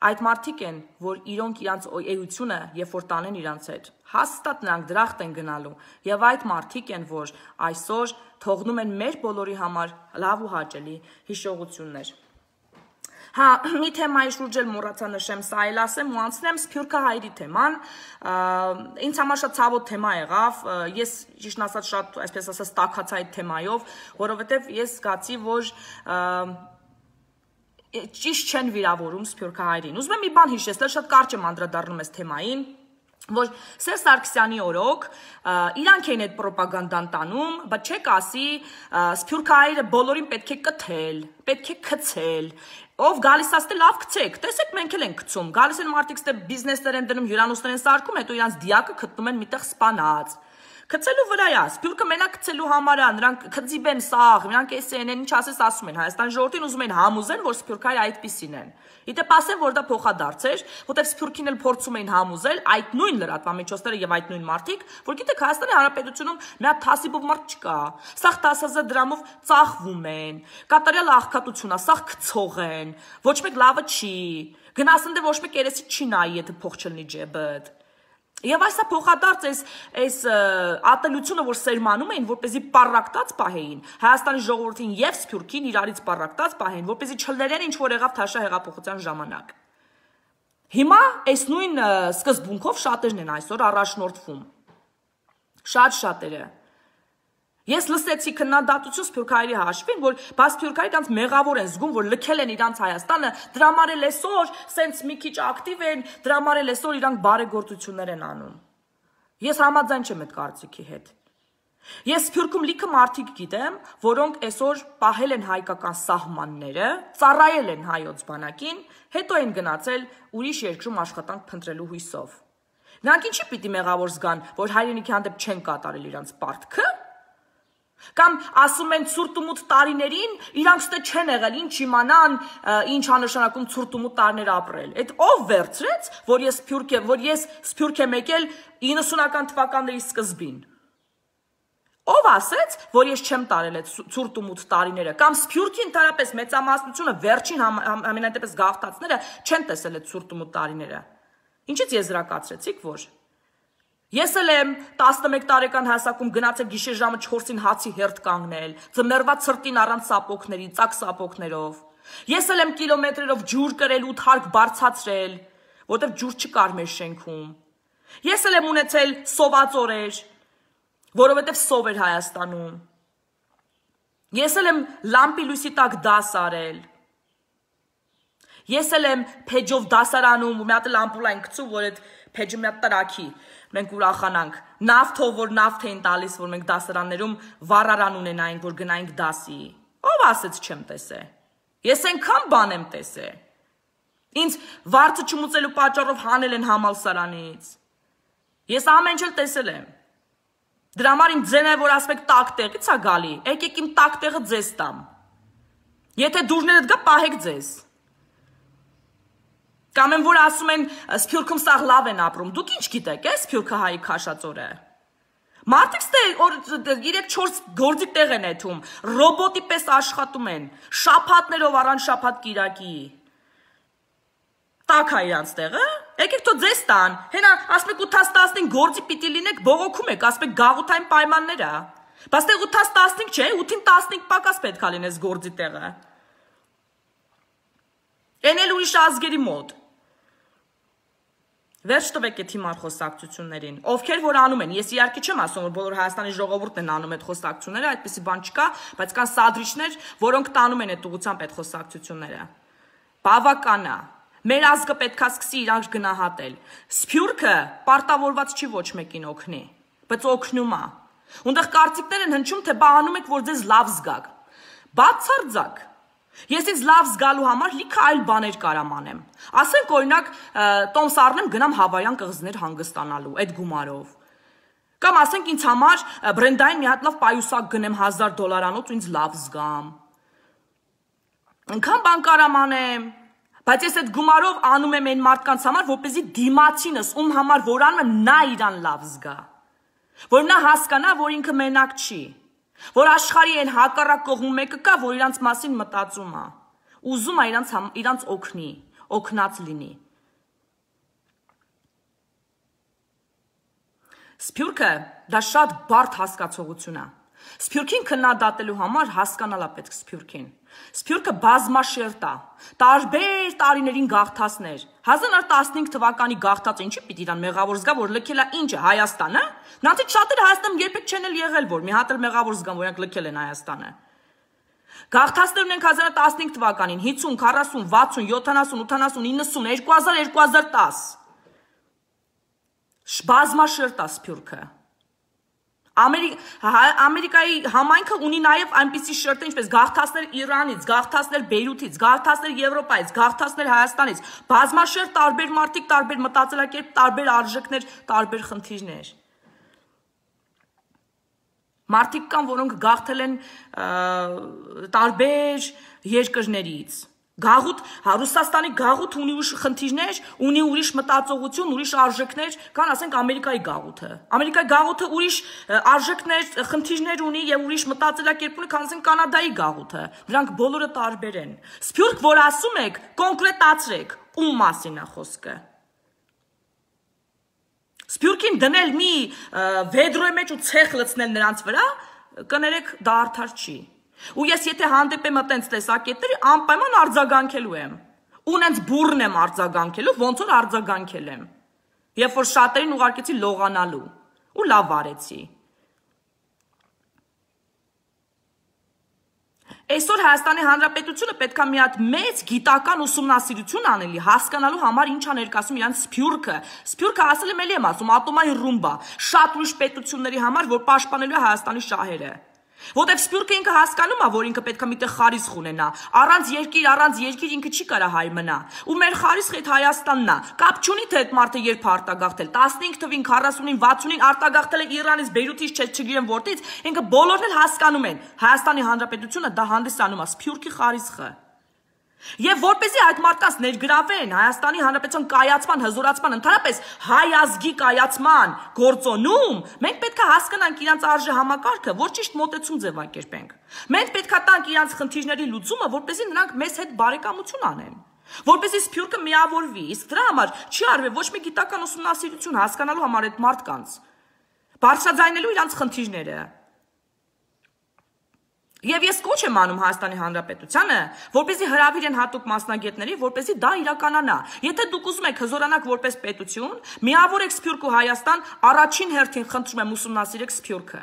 Այդ մարդիկ են, որ իրոնք իրանց էությունը, երբ որ տանեն իրանց հետ, հաստատ նրանք դրախտ են գնալու, եւ այդ մարդիկ են, որ այսօր թողնում են մեր բոլորի համար լավ ու հաճելի հիշողություններ։ Հա, մի թեմայի շուրջ էլ մոռացա նշեմ, սա էլ ասեմ ու անցնեմ Սփյուռքահայերի թեման, ինձ համար շատ ցավոտ թեմա եղավ, ես ճիշտն ասած շատ, այսպես ասած, տաքացա այդ թեմայով, որովհետեւ ես զգացի, որ ճիշտ չեն վիրավորում Սփյուռքահայերին։ Ուզում եմ մի բան հիշեցնել, շատ կարճ եմ անդրադառնում այս թեմային, որ Սերժ Սարգսյանի օրոք իրանք են այդ պրոպագանդան տանում, բայց չեք ասի Սփյուռքահայերը բոլորին պետք է կթել, պետք է գցել, ով գալիս ասते լավ գցեք, տեսեք մենք էլ ենք գցում, գալիս են մարդիկ ստե բիզնեսներ են դնում, հյուրանոցներ են սարքում, հետո իրանց դիակը գտնում են միտեղ սպանած։ Գցելու վրա է, Սփյուռքը մենակ գցելու համար է, նրանք քծիբ են սաղ, նրանք էս են, ինչ ասես ասում են, Հայաստանի ժողովրդին ուզում են համոզեն, որ Սփյուռքահայերը այդպիսին են։ Իդեպ ասեմ, որ դա փոխադարձ էր, որտեղ Սփյուռքին էլ փորձում էին համոզել այդ նույն լրատվամիջոցները եւ այդ նույն մարդիկ, որ գիտեք Հայաստանի Հանրապետությունում մի հատ թասիբով մարդ չկա։ Սաղ տասը հազար դրամով ծախվում են, կատարյալ աղքատություն է, սաղ գցող են, ոչ մեկ լավը չի։ Գնասն դե ոչ մեկ երեսի չի նայի, եթե փող չլինի ջեբդ։ Եվ այսա փոխադարձ այս այս ատելությունը, որ սերմանում էին, որպեսզի պարակտած պահեին, Հայաստանի ժողովրդին եւ Սփյուռքին իրարից պարակտած պահեին, որպեսզի չլերեն ինչ որ եղավ Թաշա հեղափոխության ժամանակ։ Հիմա այս նույն սկզբունքով շատերն են այսօր առաջնորդվում։ Շատ շատերը։ Ես լսեցի քննադատություն Սփյուռքահայերի հաշվին, որ բա Սփյուռքահայերը իրանց մեղավոր են զգում, որ լքել են իրանց Հայաստանը, դրա համար էլ այսօր սենց մի քիչ ակտիվ են, դրա համար էլ այսօր իրանք բարեգործություններ են անում։ Ես համաձայն չեմ այդ կարծիքի հետ։ Ես Սփյուռքում լիքը մարդիկ գիտեմ, որոնք այսօր պահել են հայկական սահմանները, ծառայել են հայոց բանակին, հետո են գնացել ուրիշ երկրում աշխատանք փնտրելու հույսով։ Նրանք ինչի պիտի մեղավոր զգան, որ հայրենիքի հանդեպ չեն կատարել իրանց պարտքը։ Կամ ասում են ցուրտ ու մութ տարիներին իրանք ստե չեն եղել, ինչ իմանան, ինչ անշանակում ցուրտ ու մութ տարիներ ապրել։ Այդ ով վերցրեց, որ ես Սփյուռք եմ, որ ես Սփյուռք եմ եկել իննսունական թվականների սկզբին։ Ով ասեց, որ ես չեմ տարել այդ ցուրտ ու մութ տարիները, կամ Սփյուռքի ընդհանրապես մեծամասնությունը վերջին ամենատեպս գաղթածները չեն տեսել այդ ցուրտ ու մութ տարիները։ Ինչից եզրակացրեցիք, որ Ես էլ եմ տասնմեկ տարեկան հասակում գնացել գիշեր ժամը չորսին հացի հերթ կանգնել, ձմեռվա ցրտին առանց սապոկների, ծակ սապոկներով։ Ես էլ եմ կիլոմետրերով ջուր կրել ու թարք բարձացրել, որտեղ ջուր չկար մեր շենքում։ Ես էլ եմ ունեցել սոված օրեր, որովհետև սով էր Հայաստանում։ Ես էլ եմ լամպի լույսի տակ դաս արել։ Ես էլ եմ փեջով դասարանում, ու մի հատ լամպուլ այն գցում, որ այդ փեջը մի հատ տրակի, մենք ուրախանանք, նավթով, որ նավթ էին տալիս, որ մենք դասարաններում վառարան ունենայինք, որ գնայինք դասի։ Ով ասեց չեմ տեսե։ Ես այնքան բան եմ տեսե։ Ինձ վարձը չմուծելու պատճառով հանել են համալսարանից։ Ես ամեն ինչ էլ տեսել եմ։ Դրա համար իմ ձենը, որ ասում եք տակ տեղից է գալի, եկեք իմ տակ տեղը ձեզ տամ։ Եթե դուրներդ գա, պահեք ձեզ։ Կամ են, որ ասում են Սփյուռքում սաղ լավ են ապրում, դուք ինչ գիտեք, է Սփյուռքահայի քաշածորը։ Մարդիկ ստե երեք չորս գործի տեղ են եթում, ռոբոտի պես աշխատում են, շաբաթներով առանց շաբաթ կիրակի։ Տակ է իրանց տեղը, եկեք թո ձեզ տան, հենա ասում եք ութ տասնինք գործի պիտի լինեք, բողոքում եք, ասում եք գաղութային պայմաններ է։ Բայց տեղ ութ տասնինք չէ, ութին տասնինք պակաս պետք է լինես գործի տեղը։ Էն էլ ուրիշ ազգերի մոտ։ Վերջ տվեք այդ հիմար խոսակցություններին, ովքեր որ անում են, ես իհարկե չեմ ասում, որ բոլոր Հայաստանի ժողովուրդն են անում այդ խոսակցությունները, այդպիսի բան չկա, բայց կան սադրիչներ, որոնք տանում են այդ ուղղությամբ այդ խոսակցությունները։ Բավական է, մեր ազգը պետքա սկսի իրանք գնահատել։ Սփյուռքը պարտավորված չի ոչ մեկին օգնի, բայց օգնում է։ Ունդեղ կարծիքներ են հնչում, թե բա անում եք, որ ձեզ լավ զգաք։ Բացարձակ։ Ես ինձ լավ զգալու համար լիքը այլ բաներ կարամ անեմ։ Ասենք օրինակ տոմս առնեմ գնամ հավայան կղզիներ հանգստանալու այդ գումարով։ Կամ ասենք ինձ համար բրենդային մի հատ լավ պայուսակ գնեմ հազար դոլարանոց ու ինձ լավ զգամ։ Այնքան բան կարամ անեմ, բայց ես այդ գումարով անում եմ այն մարդկանց համար, որպեսզի դիմացինս ում համար որ անում եմ նա իրան լավ զգա։ Որ նա հասկանա, որ ինքը մենակ չի։ Որ աշխարհի այն հակառակ կողմում մեկը կա, որ իրանց մասին մտածում է, ուզում է իրանց իրանց օգնի, օգնած լինի։ Սփյուռքը դա շատ բարդ հասկացողություն է։ Սփյուռքին քննադատելու համար հասկանալա պետք Սփյուռքին։ Սփյուռքը բազմաշերտ է, տարբեր տարիներին գաղթածներ։ հազար տասնհինգ թվականի գաղթածը ինչի պիտի իրան մեղավոր զգա, որ լքել է ինչը Հայաստանը։ Նրանցից շատերը Հայաստանում երբեք չեն էլ եղել, որ մի հատ էլ մեղավոր զգան, որ իրանք լքել են Հայաստանը։ Գաղթածներ ունենք հազար տասնհինգ թվականին, հինգ, քառասուն, վաթսուն, յոթանասուն, ութանասուն, իննսուն, երկու հազար, երկու հազար տասը։ Բազմաշերտ է Սփյուռքը։ Ամերիկայի համայնքը ունի նաև այնպիսի շերտեր, ինչպես գաղթածներ Իրանից, գաղթածներ Բեյրութից, գաղթածներ Եվրոպայից, գաղթածներ Հայաստանից, բազմաշերտ տարբեր մարդիկ, տարբեր մտածելակերպ, տարբեր արժեքներ, տարբեր խնդիրներ։ Մարդիկ կան, որոնք գաղթել են տարբեր երկրներից։ Գաղութ, Ռուսաստանի գաղութ ունի ուրիշ խնդիրներ, ունի ուրիշ մտածողություն, ուրիշ արժեքներ, կան ասենք Ամերիկայի գաղութը։ Ամերիկայի գաղութը ուրիշ արժեքներ, խնդիրներ ունի եւ ուրիշ մտածելակերպ ունի, քան ասենք Կանադայի գաղութը։ Դրանք բոլորը տարբեր են։ Սփյուռք, որ ասում եք, կոնկրետացրեք, ում մասին է խոսքը։ Սփյուռքին դնել մի վեդրոյի մեջ ու ցեխ լցնել նրանց վրա, կներեք, դա արդար չի։ Ու ես եթե հանդեպեմ այտենց տեսակետների անպայման արձագանքելու եմ։ Ու նենց բուրն եմ արձագանքելու, ոնց որ արձագանքել եմ։ Երբ որ շատերին ուղարկեցի լողանալու ու լավ արեցի։ Այսօր Հայաստանի Հանրապետությունը պետք է մի հատ մեծ գիտական ուսումնասիրություն անելի, հասկանալու համար ինչ է ներկայացնում իրան Սփյուռքը։ Սփյուռքը ասել եմ էլի եմ ասում, ատոմային ռումբա, շատ ուրիշ պետությունների համար, որ պաշտպանելու է Հայաստանի շահերը։ Որտեւ Սփյուռքը ինքը հասկանում է, որ ինքը պետք է միտեղ խարիսխ ունենա, առանց երկիր, առանց երկիր ինքը չի կարա հայ մնա։ Ու մեր խարիսխը այդ Հայաստանն է։ Կապ չունի թե այդ մարդը երբ արտագաղթել, տասնհինգ թվին, քառասունին, վաթսունին արտագաղթել է Իրանից, Բեյրութից, չգիտեմ որտից, ինքը բոլորն էլ հասկանում են։ Հայաստանի Հանրապետությունը դա հանդիսանում է Սփյուռքի խարիսխը։ Եվ որպեսզի այդ մարդկանց ներգրավեն Հայաստանի Հանրապետության կայացման, հզորացման, ընդհանրապես հայ ազգի կայացման գործոնում, մենք պետք է հասկանանք իրանց արժե համակարգը, որ ճիշտ մոտեցում ձևակերպենք։ Մենք պետք է տանք իրանց խնդիրների լուծումը, որպեսզի նրանք մեզ հետ բարեկամություն անեն, որպեսզի Սփյուռքը միավորվի, իսկ դրա համար չի արվել ոչ մի գիտական ուսումնասիրություն հասկանալու համար այդ մարդկանց, բարձրաձայնելու իրանց խնդիրները։ Եվ ես կոչ եմ անում Հայաստանի Հանրապետությանը, որպեսզի հրավիրեն հատուկ մասնագետների, որպեսզի դա իրականանա։ Եթե դուք ուզում եք հզորանաք որպես պետություն, միավորեք Սփյուռք ու Հայաստան, առաջին հերթին խնդրում եմ ուսումնասիրեք Սփյուռքը։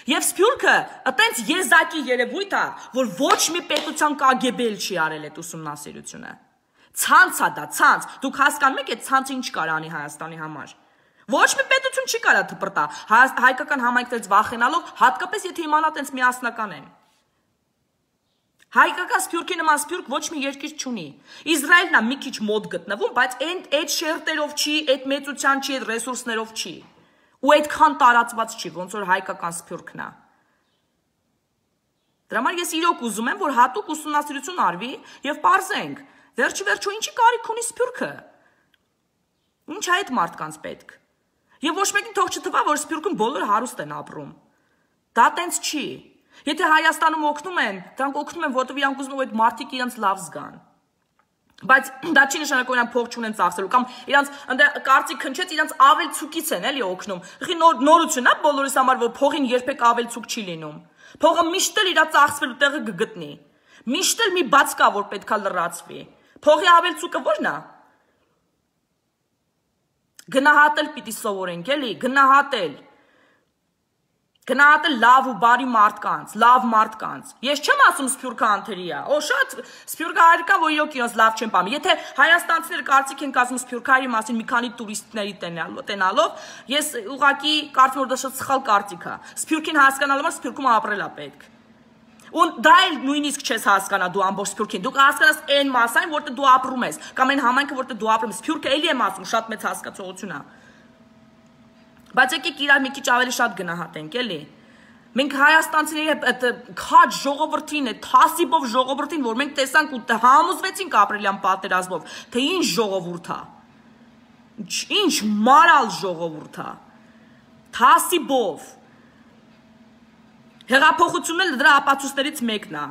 Եվ Սփյուռքը այտենց եզակի երևույթ է, որ ոչ մի պետության Կ Գ B-ել չի արել այդ ուսումնասիրությունը։ Ցանց է դա, ցանց։ Դուք հասկանում եք այդ ցանցը ինչ կարող անի Հայաստանի համար։ Ոչ մի պետություն չի կարա թպրտա, հայկական համայնքներից վախենալով, հատկապես եթե իմանա տենց միասնական են։ Հայկական Սփյուռքի նման Սփյուռք ոչ մի երկիր չունի։ Իսրայելն է մի քիչ մոտ գտնվում, բայց այդ շերտերով չի, այդ մեծության չի, այդ ռեսուրսներով չի։ Ու այդքան տարածված չի, ոնց որ հայկական Սփյուռքն է։ Դրա համար ես իրոք ուզում եմ, որ հատուկ ուսումնասիրություն արվի եւ պարզենք, վերջի վերջո ինչի կարիք ունի Սփյուռքը։ Ինչ է այդ մարդկանց պետք։ Եվ ոչ մեկին թող չթվա, որ Սփյուռքում բոլորը հարուստ են ապրում։ Դա տենց չի։ Եթե Հայաստանում օգնում են, դրանք օգնում են, որովհետև իրանք ուզում են այդ մարդիկ իրենց լավ զգան։ Բայց դա չի նշանակում իրանք փող չունեն ծախսելու կամ իրանք կարծիք քնչեց, իրանք ավել ցուկից են էլի օգնում։ Ղի նորություն է բոլորիս համար, որ փողին երբեք ավել ցուկ չի լինում։ Փողը միշտ էլ իր ծախսվելու տեղը կգտնի։ Միշտ էլ մի բաց կա, որ պետքա լրացվի։ Փողի ավել ցուկը ո՞րն է։ Գնահատել պիտի սովորենք, էլի, գնահատել։ Գնահատել լավ ու բարի մարդկանց, լավ մարդկանց։ Ես չեմ ասում Սփյուռքը անթերի է։ Օ, շատ Սփյուռքը հայրիկա, որ իրոք իրենց լավ չեն պահում։ Եթե հայաստանցիները կարծիք են կազմում Սփյուռքահայերի մասին մի քանի տուրիստների տենալով, ես ուղղակի կարծում որ դա շատ սխալ կարծիք է։ Սփյուռքին հասկանալու համար Սփյուռքում ապրել է պետք։ Ու դա էլ նույնիսկ չես հասկանա դու ամբողջ Սփյուռքին։ Դու կհասկանաս այն մասային, որտեղ դու ապրում ես, կամ այն համայնքը, որտեղ դու ապրում ես։ Սփյուռքը էլի եմ ասում, շատ մեծ հասկացողություն է։ Բայց եկեք իրար մի քիչ ավելի շատ գնահատենք, էլի։ Մենք հայաստանցիների այդ քաջ ժողովրդին, այդ թասիբով ժողովրդին, որ մենք տեսանք ու համոզվեցինք ապրիլյան պատերազմով, թե ինչ ժողովուրդ է։ Ինչ մարալ ժողովուրդ է։ Թասիբով։ Հեղափոխությունն էլ դրա ապացույցներից մեկն է։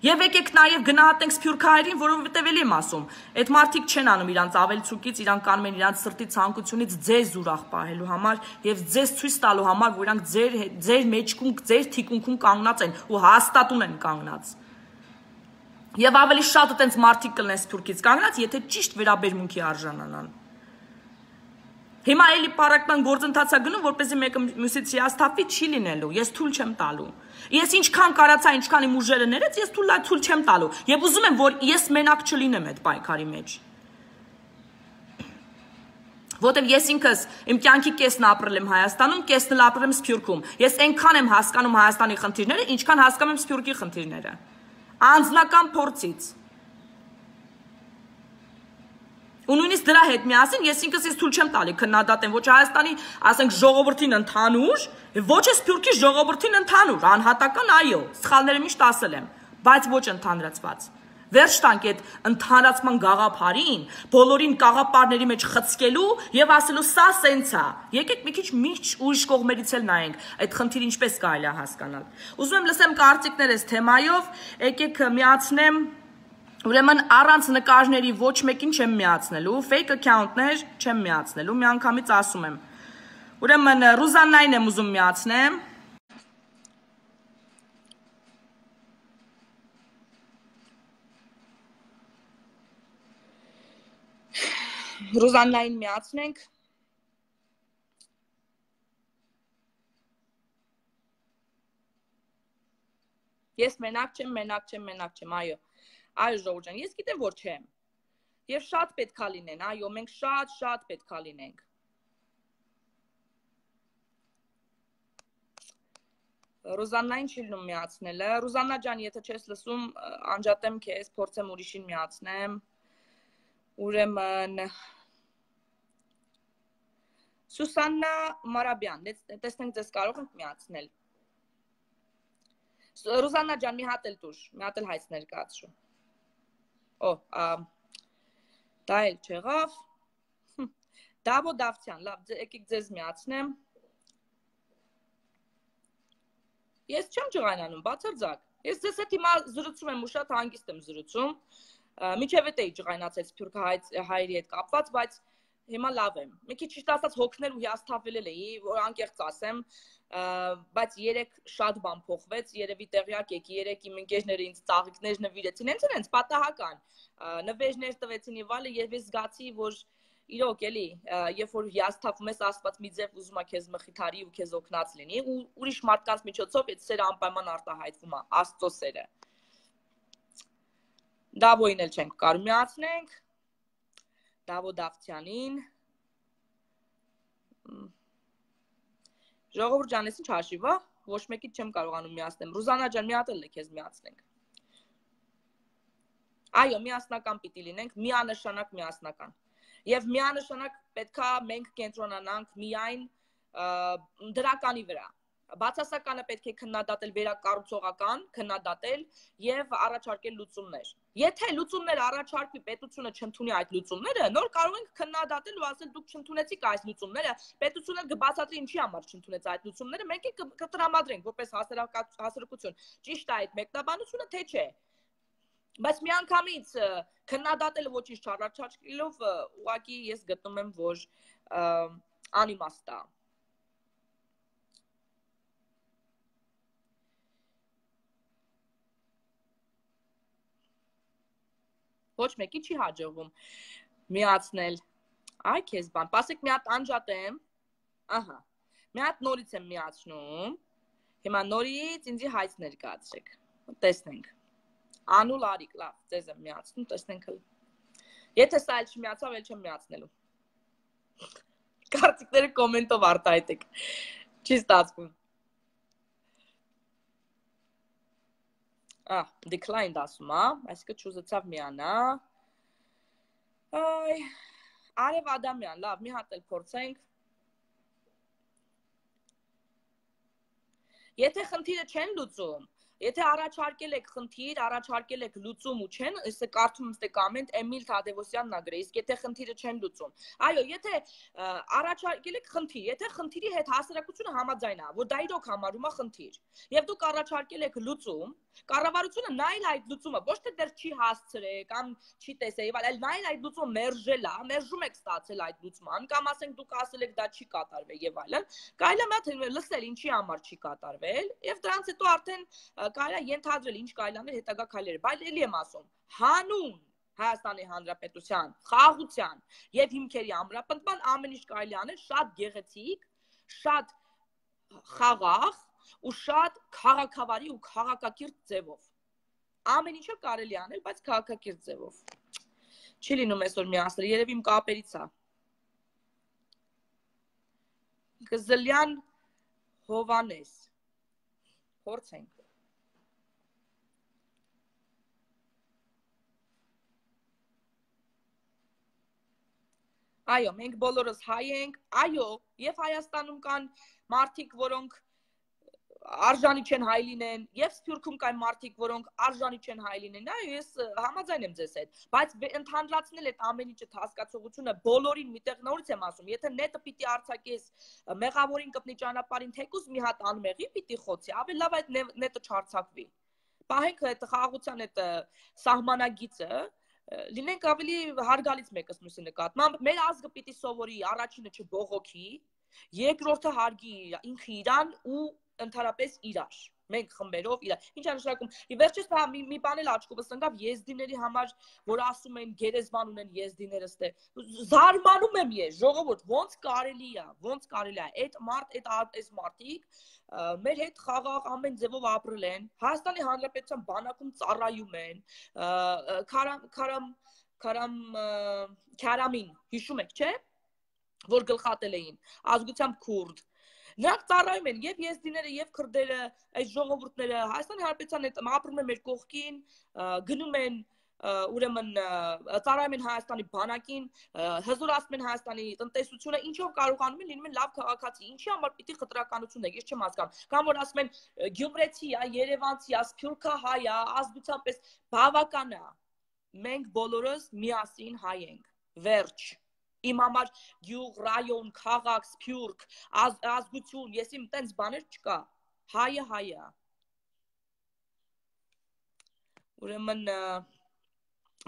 Եվ եկեք նաև գնահատենք Սփյուռքահայերին, որովհետև էլի եմ ասում, այդ մարդիկ չեն անում իրանց ավելցուկից, իրանք կանում են իրանց սրտի ցանկությունից ձեզ ուրախ պահելու համար եւ ձեզ ցույց տալու համար, որ իրանք ձեր ձեր մեջքում, ձեր թիկունքում կանգնած են ու հաստատուն են կանգնած։ Եվ ավելի շատ այտենց մարդիկ կլինեն Սփյուռքից կանգնած, եթե ճիշտ վերաբերմունքի արժանանան։ Հիմա էլի պարակման գործընթացա գնում, որպեսզի մեկը մյուսից հիասթափվի չի լինելու, ես թույլ չեմ տալու։ Ես ինչքան կարացա, ինչքան իմ ուժերը ներեց, ես թույլ թույլ չեմ տալու։ Եվ ուզում եմ, որ ես մենակ չլինեմ այդ պայքարի մեջ։ Որտեւ ես ինքս իմ կյանքի կեսն ապրել եմ Հայաստանում, կեսն էլ ապրել եմ Սփյուռքում։ Ես այնքան եմ հասկանում Հայաստանի խնդիրները, ինչքան հասկանում եմ Սփյուռքի խնդիրները։ Անձնական փորձից։ Ու նույնիսկ դրա հետ միասին ես ինքս ես թույլ չեմ տալի քննադատեմ ոչ Հայաստանի, ասենք ժողովրդին ընդհանուր, ոչ է Սփյուռքի ժողովրդին ընդհանուր, անհատական այո, սխալները միշտ ասել եմ, բայց ոչ ընդհանրացված։ Վերջ տանք այդ ընդհանրացման գաղափարին, բոլորին գաղափարների մեջ խցկելու եւ ասելու սա սենց է։ Եկեք մի քիչ միջ ուրիշ կողմերից էլ նայենք, այդ խնդիրը ինչպես կարելի է հասկանալ։ Ուզում եմ լսեմ կարծիքներս թեմայով, եկեք միացնեմ Ուրեմն առանց նկարների ոչ մեկին չեմ միացնելու, fake account-ներ չեմ միացնելու, մի անգամից ասում եմ։ Ուրեմն Ռուզաննային եմ ուզում միացնեմ։ Ռուզաննային միացնենք։ Ես մենակ չեմ, մենակ չեմ, մենակ չեմ, այո։ Այո, Ժողովուրդ ջան, ես գիտեմ, որ չեմ։ Եվ շատ պետքա լինեն, այո, մենք շատ, շատ պետքա լինենք։ Ռուզաննային չի լինում միացնելը։ Ռուզաննա ջան, եթե չես լսում, անջատեմ քեզ, փորձեմ ուրիշին միացնեմ։ Ուրեմն Սուսաննա Մարաբյան, տեսնենք ձեզ կարող ենք միացնել։ Ռուզաննա ջան, մի հատ էլ տուր, մի հատ էլ հայց ներկայացրու։ Օ, դա էլ չեղավ։ Դավո Դավթյան, լավ, եկեք ձեզ միացնեմ։ Ես չեմ ջղայնանում, բացարձակ։ Ես ձեզ հետ հիմա զրուցում եմ ու շատ հանգիստ եմ զրուցում։ Միջև էդ էի ջղայնացել սփյուռք հայերի հետ կապված, բայց հիմա լավ եմ։ Մի քիչ ճիշտ ասած հոգնել ու հիասթափվել էի, որ անկեղծ ասեմ, բայց երեք շատ բան փոխվեց, երևի տեղյակ եք, երեք իմ ընկերները ինձ ծաղիկներ նվիրեցին, հենց հենց պատահական։ Նվերներ տվեցին եւ այլն, եւ ես զգացի, որ իրոք էլի, երբ որ հիասթափվում ես, Աստված մի ձև ուզում է քեզ մխիթարի ու քեզ օգնած լինի, ու ուրիշ մարդկանց միջոցով այդ սերը անպայման արտահայտվում է, Աստծո սերը։ Դավոին էլ չենք կարող միացնենք։ Դավո Դավթյանին։ Ժողովուրդ ջան, ես ինչ հաշիվ է, ոչ մեկից չեմ կարողանում միացնեմ։ Ռուզաննա ջան, մի հատ էլ քեզ միացնենք։ Այո, միասնական պիտի լինենք, միանշանակ միասնական։ Եվ միանշանակ պետքա մենք կենտրոնանանք միայն դրականի վրա։ Բացասականը պետք է քննադատել, վերակառուցողական քննադատել եւ առաջարկել լուծումներ։ Եթե լուծումներ առաջարկվի, պետությունը չընդունի այդ լուծումները, նոր կարող ենք քննադատել ու ասել դուք չընդունեցիք այս լուծումները, պետությունը կբացատրի ինչի համար չընդունեց այդ լուծումները, մենք էլ կտրամադրենք որպես հասարակություն։ Ճիշտ է այդ մեկնաբանությունը, թե չէ։ Բայց միանգամից քննադատելը ոչինչ չառաջարկելով, ուղղակի ես գտնում եմ, որ անիմաստ է։ Ոչ մեկի չի հաջողվում միացնել։ Այ քեզ բան, պասեք մի հատ անջատեմ։ Ահա։ Մի հատ նորից եմ միացնում։ Հիմա նորից ինձի հայց ներկայացրեք։ Տեսնենք։ Անուլ Արիկ, լավ, ձեզ եմ միացնում, տեսնենք հլ։ Եթե սա էլ չմիացավ, էլ չեմ միացնելու։ Կարծիքները կոմենտով արտահայտեք։ Չի ստացվում։ Ահ, declined ասում է, այսինքն չուզեցավ միանա։ Այ, Արև Ադամյան, լավ, մի հատ էլ փորձենք։ Եթե խնդիրը չեն լուծում, եթե առաջարկել եք խնդիր, առաջարկել եք լուծում ու չեն, ըստ կարդում ըստ կոմենտ Էմիլ Թադևոսյանն ա գրել, իսկ եթե խնդիրը չեն լուծում։ Այո, եթե առաջարկել եք խնդիր, եթե խնդիրի հետ հասարակությունը համաձայն է, որ դա իրոք համարում է խնդիր, եւ դուք առաջարկել եք լուծում, կառավարությունը նայել այդ լուծումը, ոչ թե դեռ չի հասցրել կամ չի տեսել, այլ նայել այդ լուծումը մերժել է, մերժում եք ստացել այդ լուծման, կամ ասենք դուք ասել եք դա չի կատարվել եւ այլն, կարելի է մատ լսել ինչի համար չի կատարվել, եւ դրանից հետո արդեն կարելի է ենթադրել ինչ կարելի անել հետագա քայլերը, բայց ելի եմ ասում, հանուն Հայաստանի Հանրապետության խաղաղության եւ հիմքերի ամրապնդման ամեն ինչ կարելի անել շատ գեղեցիկ, շատ խաղաղ ու շատ քաղաքավարի ու քաղաքակիրթ ձևով։ Ամեն ինչը կարելի անել, բայց քաղաքակիրթ ձևով։ Չի լինում այսօր միացնել, երևի իմ կապերից է։ Գզլյան Հովանես։ Փորձենք։ Այո, մենք բոլորս հայ ենք, այո, եւ Հայաստանում կան մարդիկ, որոնք արժանի չեն հայ լինեն, եւ Սփյուռքում կան մարդիկ, որոնք արժանի չեն հայ լինեն, այո, ես համաձայն եմ ձեզ հետ, բայց ընդհանրացնել այդ ամեն ինչը հասկացողությունը բոլորին միտեղ նորից եմ ասում, եթե նետը պիտի արձակես մեղավորին կպնի ճանապարհին, թեկուզ մի հատ անմեղի պիտի խոցի, ավելի լավ այդ նետը չարձակվի։ Պահենք այդ խաղաղության այդ սահմանագիծը, լինենք ավելի հարգալից մեկս մյուսի նկատմամբ, մեր ազգը պիտի սովորի առաջինը չբողոքի, երկրորդը հարգի ինքը իրան ու ընդհանրապես իրար։ Մենք խմբերով իրա։ Ինչ է նշանակում։ Վերջից մի մի բան էլ աչքովս ընկավ եզդիների համար, որ ասում են գերեզման ունեն եզդիները ստե։ Զարմանում եմ ես, ժողովուրդ, ոնց կարելի է, ոնց կարելի է։ Այդ մարդ, այդ այս մարդիկ մեր հետ խաղաղ ամեն ձևով ապրել են։ Հայաստանի Հանրապետության բանակում ծառայում են։ Քարամ քարամ քարամ քարամին, հիշում եք, չէ՞, որ գլխատել էին, ազգությամբ քուրդ։ Նրանք ծառայում են եւ եզդիները եւ քրդերը, այս ժողովուրդները Հայաստանի Հանրապետության հետ ապրում են մեր կողքին, գնում են ուրեմն ծառայում են Հայաստանի բանակին, հզորացնում են Հայաստանի տնտեսությունը, ինչով կարողանում են լինում են լավ քաղաքացի, ինչի համար պիտի խտրականություն է, ես չեմ հասկանում։ Կամ որ ասում են գյումրեցի է, երևանցի է, սփյուռքահայ է, ազգությամբ էս բավական է։ Մենք բոլորս միասին հայ ենք։ Վերջ։ Իմ համար գյուղ, ռայոն, քաղաք, սփյուռք, ազգություն, ես իմ տենց բաներ չկա։ Հայը հայը։ Ուրեմն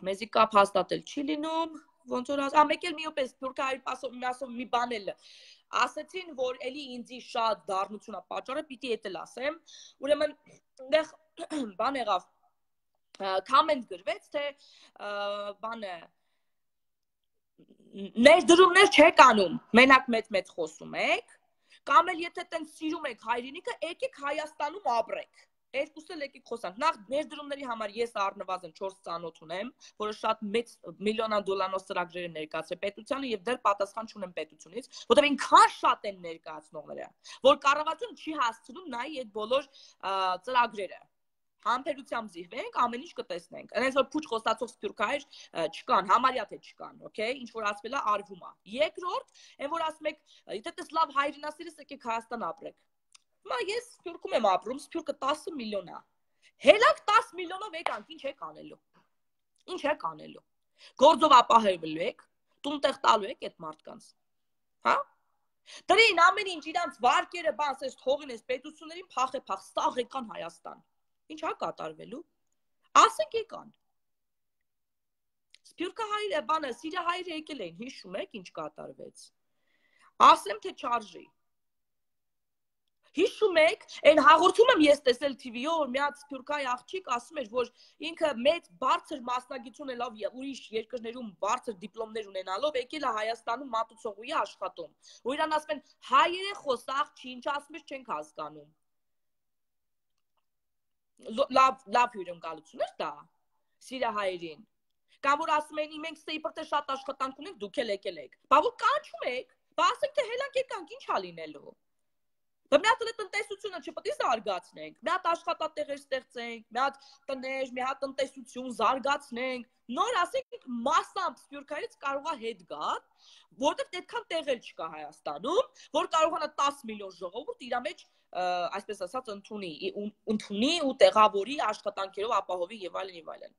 մեզի կապ հաստատել չի լինում, ոնց որ ասա, մեկ էլ միոպես սփյուռքահայ ասում մի բան էլ ասեցին, որ էլի ինձի շատ դառնություն է պատճառը, պիտի էդ էլ ասեմ։ Ուրեմն այնտեղ բան եղավ, կոմենտ գրվեց, թե բանը ներդրումներ չեք անում, մենակ մեծ-մեծ խոսում եք, կամ էլ եթե տենց սիրում եք հայրենիքը, եկեք Հայաստանում ապրեք։ Երկուսը եկեք խոսանք։ Նախ ներդրումների համար ես առնվազն չորս ծանոթ ունեմ, որը շատ մեծ միլիոնան դոլարանոց ծրագրեր են ներկայացրել պետությանը եւ դեռ պատասխան չունեմ պետությունից, որտեղ ինքան շատ են ներկայացնողները, որ կառավարությունը չի հասցնում նայի այդ բոլոր ծրագրերը։ Համբերությամբ զիհվենք, ամեն ինչ կտեսնենք։ Այնպես որ փուչ խոստացող սփյուռքահայեր չկան, համարյա թե չկան, օքեյ, ինչ որ ասվել է արվում է։ Երկրորդ, այն որ ասում եք, եթե դες լավ հայրենասիրես եկեք Հայաստան ապրեք։ Հիմա ես Սփյուռքում եմ ապրում, Սփյուռքը տասը միլիոն է։ Հելակ տասը միլիոնով եկանք, ինչ եք անելու։ Ինչ եք անելու։ Գործով ապահովելու եք, տուն-տեղ տալու եք այդ մարդկանց։ Հա? Դրին ամեն ինչ իրանց վարկերը, բաս, այս թողին, այս պետություններին փախե-փախ, ստաղ եկան Հայաստան։ Ինչ է կատարվելու։ Ասենք եկան։ Սփյուռքահայերը, բանը, սիրահայերը եկել էին, հիշում եք ինչ կատարվեց։ Ասեմ թե չարժի։ Հիշում եք, այն հաղորդում եմ ես տեսել թիվիով, որ մի հատ սփյուռքահայ աղջիկ ասում էր, որ ինքը մեծ բարձր մասնագիտություն ունելով եւ ուրիշ երկրներում բարձր դիպլոմներ ունենալով եկել է Հայաստանում մատուցողուի աշխատում։ Ու իրան ասում են հայերը խոսախ չի, ինչ ասում ես չենք հասկանում։ Լավ լավ հյուրընկալություն էր դա սիրահայերին։ Կամ որ ասում են մենք ստեյպրտե շատ աշխատանք ունենք, դուք էլ եկել եք։ Բա որ կանչում եք, բա ասենք թե հելանք եկանք, ինչ ա լինելու։ Բա մի հատ տնտեսությունը չպետք է զարգացնենք, մի հատ աշխատատեղեր ստեղծենք, մի հատ տներ, մի հատ տնտեսություն զարգացնենք, նոր ասենք մասամբ սփյուռքահայից կարող է հետ գա, որովհետև այդքան տեղեր չկա Հայաստանում, որ կարողանա տասը միլիոն ժողովուրդ իր մեջ այսպես ասած ընդունի, ընդունի ու տեղավորի աշխատանքերով ապահովի եւ այլն եւ այլն։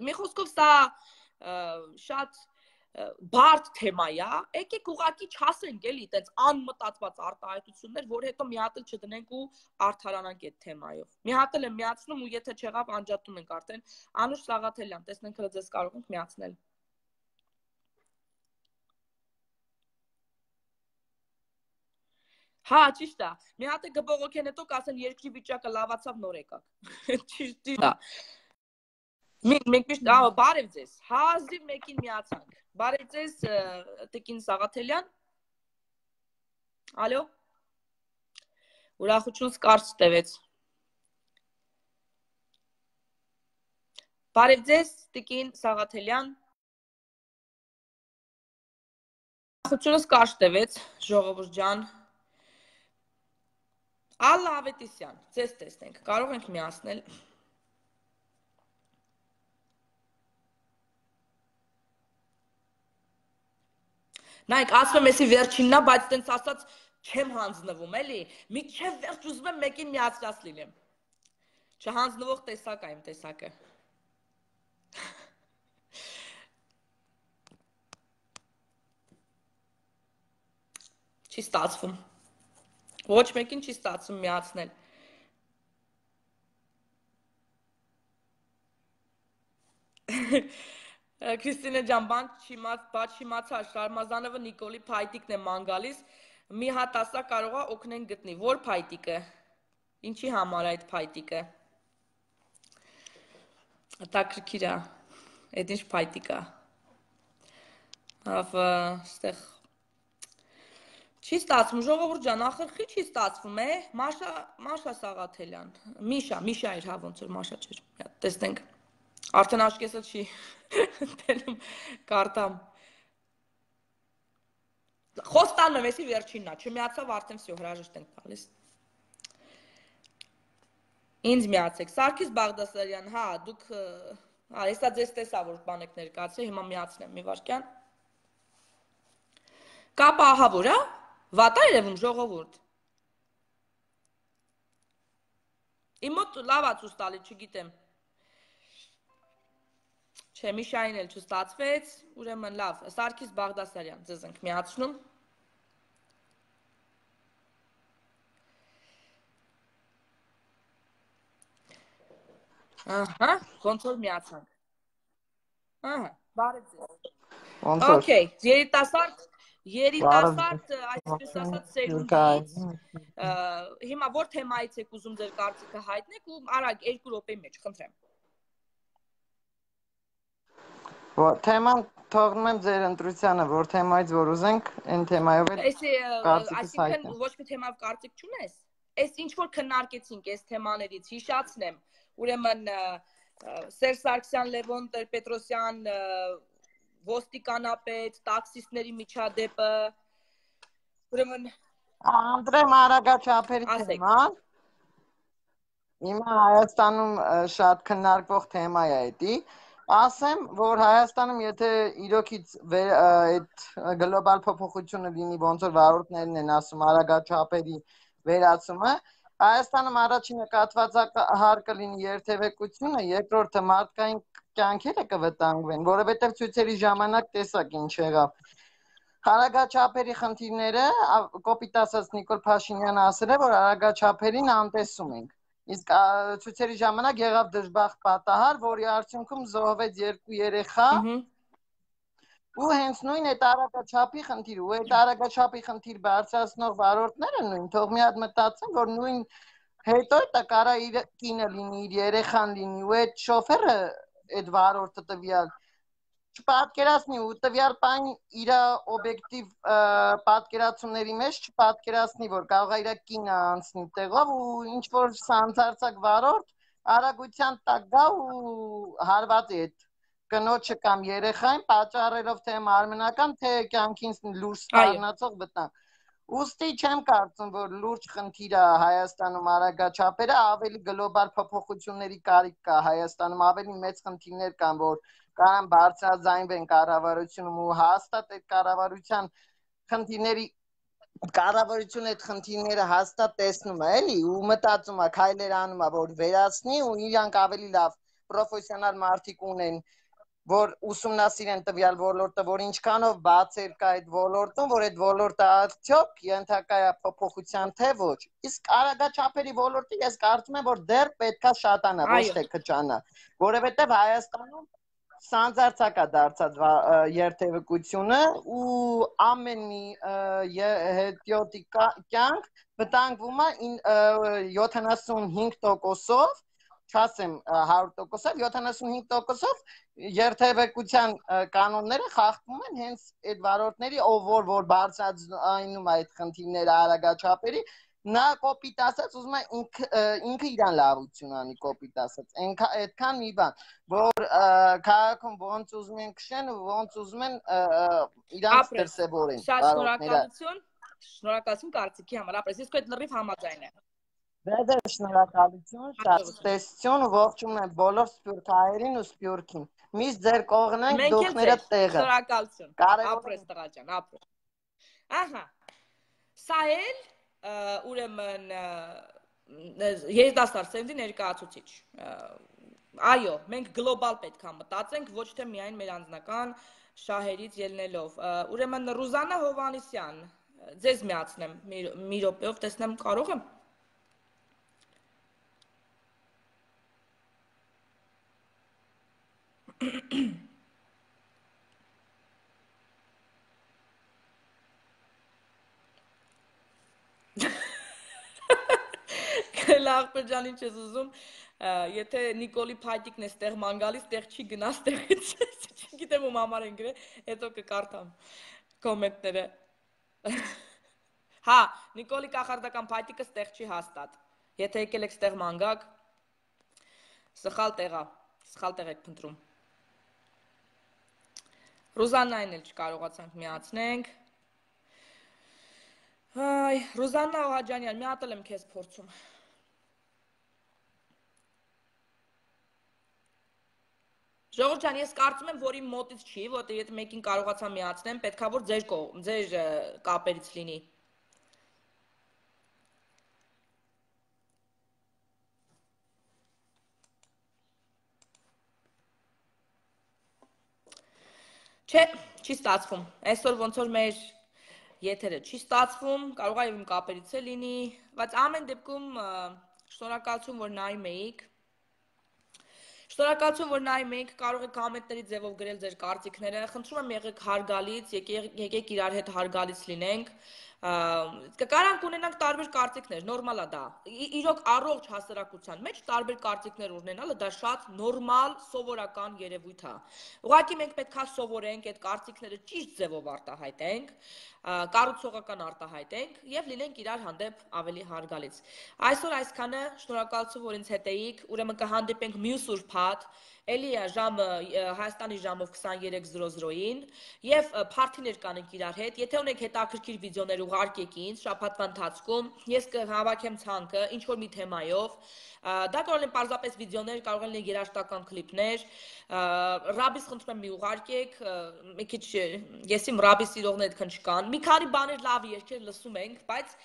Մի խոսքով սա շատ բարդ թեմա է, եկեք ուղղակի չասենք էլի, այդպես անմտածված արտահայտություններ, որ հետո մի հատ էլ չդնենք ու արդարանանք այդ թեմայով։ Մի հատ էլ եմ միացնում ու եթե չեղավ անջատում ենք արդեն։ Անուշ Սաղաթելյան, տեսնենք հələ ձեզ կարող ենք միացնել։ Հա, ճիշտ է։ Մի հատ է գբողոքեն հետո կասեն երկրի վիճակը լավացավ, նոր եկակ։ Ճիշտ է։ Մենք մենք միշտ բարև ձեզ։ Հազիվ մեկին միացանք։ Բարև ձեզ, Տիկին Սաղաթելյան։ Ալո։ Ուրախությունս կարճ տևեց։ Բարև ձեզ, Տիկին Սաղաթելյան։ Ուրախությունս կարճ տևեց, ժողովուրդ ջան։ Ալլա Ավետիսյան, ձեզ տեսնենք, կարող ենք միացնել։ Նայեք, ասում եմ էսի վերջիննա, բայց տենց ասած չեմ հանձնվում, էլի, մինչև վերջ ուզում եմ մեկին միացրած լինեմ։ Չհանձնվող տեսակ է իմ տեսակը։ Չի ստացվում։ Ոչ մեկին չի ստացվում միացնել։ Քրիստինե ջան, բան չիմաց, բաց չիմացա, Շարմազանովը Նիկոլի փայտիկն է ման գալիս, մի հատ ասա կարող է օգնեն գտնի, որ փայտիկը, ինչի համար այդ փայտիկը, հետաքրքիր է, այդ ինչ փայտիկ է, ավը, ստեղ, չի ստացվում, ժողովուրդ ջան, ախրխի չի ստացվում է, Մաշա, Մաշա Սաղաթելյան, Միշա, Միշա էր հա ոնց որ Մաշա չէր, տեսնենք, արդեն աշկեսը չի տենում կարտամ, խոստանում եմ, էսի վերջինն է, չմիացավ արդեն վсё հրաժեշտ ենք տալիս։ Ինձ միացեք, Սարգիս Բաղդասարյան, հա, դուք, հա, հեսա ձեզ տեսա, որ բան եք ներկայացրել, հիմա միացնեմ մի վարքյան։ Կապը ահավոր, հա, վատ է երևում ժողովուրդ։ Իմ մոտ լավ է ցույց տալի, չգիտեմ։ Չէ, Միշային էլ չստացվեց, ուրեմն լավ, Սարգիս Բաղդասարյան, ձեզ ենք միացնում։ Ահա, ոնց որ միացանք։ Ահա, բարև ձեզ։ Okay, երիտասարդ, երիտասարդ, այսպես ասած, սերունդից, հիմա որ թեմայից եք ուզում ձեր կարծիքը հայտնեք ու արագ երկու րոպեի մեջ, խնդրեմ։ Թեման թողնում եմ ձեր ընտրությանը, որ թեմայից որ ուզենք, այն թեմայով էլ կարծիքս հայտնեմ։ Այսինքն ոչ մի թեմայով կարծիք չունես։ Այս ինչ որ քննարկեցինք այս թեմաներից, հիշացնեմ, ուրեմն Սերժ Սարգսյան, Լևոն Տեր-Պետրոսյան, ոստիկանապետ, տաքսիստների միջադեպը, ուրեմն Անդրեմ Արագաչափերի թեման, հիմա Հայաստանում շատ քննարկվող թեմա է էդի, ասեմ, որ Հայաստանում եթե իրոքից այդ գլոբալ փոփոխությունը լինի, ոնց որ վարորդներն են ասում Արագաչափերի վերացումը, Հայաստանում առաջինը կատվածահարկը լինի երթևեկությունը, երկրորդը մարդկային կյանքերը կվտանգվեն, որովհետև ցույցերի ժամանակ տեսակ ինչ եղավ։ Արագաչափերի խնդիրները, կոպիտ ասած Նիկոլ Փաշինյանը ասել է, որ արագաչափերին անտեսում ենք։ Իսկ ցույցերի ժամանակ եղավ դժբախտ պատահար, որի արդյունքում զոհվեց երկու երեխա, ու հենց նույն այդ արագաչափի խնդիրը, ու այդ արագաչափի խնդիր բարձրացնող վարորդները նույն, թող մի հատ մտածեն, որ նույն հետո դա կարա իր կինը լինի, իր երեխան լինի, ու այդ շոֆերը, այդ վարորդը տվյալ չպատկերացնի ու տվյալ պայն իր օբյեկտիվ պատկերացումների մեջ չպատկերացնի, որ կարող է իր կինը անցնի տեղով ու ինչ որ սանձարձակ վարորդ արագության տակ գա ու հարվածի այդ կնոջը կամ երեխային պատճառելով թե մարմնական, թե կյանքին լուրջ սպառնացող վտանգ։ Ուստի չեմ կարծում, որ լուրջ խնդիր է Հայաստանում արագաչափերը, ավելի գլոբալ փոփոխությունների կարիք կա Հայաստանում, ավելի մեծ խնդիրներ կան, որ կարան բարձրաձայնվեն կառավարությունում ու հաստատ այդ կառավարության խնդիրների կառավարությունը այդ խնդիրները հաստատ տեսնում է, էլի, ու մտածում է, քայլեր անում է, որ վերացնի ու իրանք ավելի լավ պրոֆեսիոնալ մարդիկ ունեն, որ ուսումնասիրեն տվյալ ոլորտը, որ ինչքանով բացեր կա այդ ոլորտում, որ այդ ոլորտը արդյոք ենթակա է փոփոխության թե ոչ։ Իսկ արագաչափերի ոլորտը ես կարծում եմ, որ դեռ պետքա շատանա, ոչ թե քչանա, որովհետև Հայաստանում սանձարձակ է դարձած երթևեկությունը ու ամեն մի հետիոտի կյանք վտանգվում է յոթանասունհինգ տոկոսով, չասեմ հարյուր տոկոսով, յոթանասունհինգ տոկոսով երթևեկության կանոնները խախտվում են հենց այդ վարորդների, ով որ որ բարձրացնում է այդ խնդիրները արագաչափերի, նա կոպիտ ասած ուզում է ինքը իրան լավություն անի, կոպիտ ասած, այդքան մի բան, որ քաղաքում ոնց ուզում են քշեն ու ոնց ուզում են իրանց դրսևորեն։ Շատ շնորհակալություն, շնորհակալություն կարծիքի համար, ապրես, իսկ այդ լրիվ համաձայն եմ։ Դե շնորհակալություն, շատ տեսություն ու ողջունում եմ բոլոր սփյուռքահայերին ու սփյուռքին։ Միշտ ձեր կողքն ենք, դուխները տեղը։ Շնորհակալություն։ Ապրես տղաճան, ապրես։ Ահա։ Սա էլ ուրեմն երիտասարդ սերնդի ներկայացուցիչ։ Այո, մենք գլոբալ պետք է մտածենք, ոչ թե միայն մեր անձնական շահերից ելնելով։ Ուրեմն Ռուզաննա Հովհաննիսյան, ձեզ միացնեմ մի րոպեով, տեսնեմ կարող եմ։ Աղբեր ջան, ինչ ես ուզում, եթե Նիկոլի փայտիկն է ստեղ ման գալիս, տեղ չի գնա ստեղից, չգիտեմ ում համար են գրել, հետո կկարդամ կոմենտները։ Հա, Նիկոլի կախարդական փայտիկը ստեղ չի հաստատ, եթե եկել եք ստեղ ման գաք, սխալ տեղա, սխալ տեղ եք փնտրում։ Ռուզաննային էլ չկարողացանք միացնենք։ Այ, Ռուզաննա Օհաջանյան, մի հատ էլ եմ քեզ փորձում։ Ժողովուրդ ջան, ես կարծում եմ, որ իմ մոտից չի, որտեղ եթե մեկին կարողացա միացնեմ, պետքա որ ձեր ձեր կապերից լինի։ Չէ, չի ստացվում։ Այսօր ոնց որ մեր եթերը չի ստացվում, կարող է իմ կապերից է լինի, բայց ամեն դեպքում շնորհակալություն, որ նայում էիք։ Շնորհակալություն, որ նայում էիք, կարող եք կոմենտների ձևով գրել ձեր կարծիքները, խնդրում եմ եղեք հարգալից, եկեք իրար հետ հարգալից լինենք։ Կարանք ունենանք տարբեր կարծիքներ, նորմալ է դա։ Իրոք առողջ հասարակության մեջ տարբեր կարծիքներ ունենալը դա շատ նորմալ, սովորական երևույթ է։ Ուղղակի մենք պետք է սովորենք այդ կարծիքները ճիշտ ձևով արտահայտենք, կառուցողական արտահայտենք եւ լինենք իրար հանդեպ ավելի հարգալից։ Այսօր այսքանը, շնորհակալություն, որ ինձ հետ էիք, ուրեմն կհանդիպենք մյուս ուրբաթ, էլի է ժամը Հայաստանի ժամով քսաներեք զրո զրոյին եւ փարթիներ կանենք իրար հետ։ Եթե ունեք հետաքրքիր վիդեոներ ուղարկեք ինձ շաբաթվա ընթացքում, ես կհավաքեմ ցանկը ինչ որ մի թեմայով։ Դա կարող են պարզապես վիդեոներ, կարող են երաժշտական կլիպներ, ռաբիս խնդրում եմ մի ուղարկեք, մի քիչ ես իմ ռաբի սիրողներ այդքան չկան, մի քանի բաներ լավ երգեր լսում ենք, բայց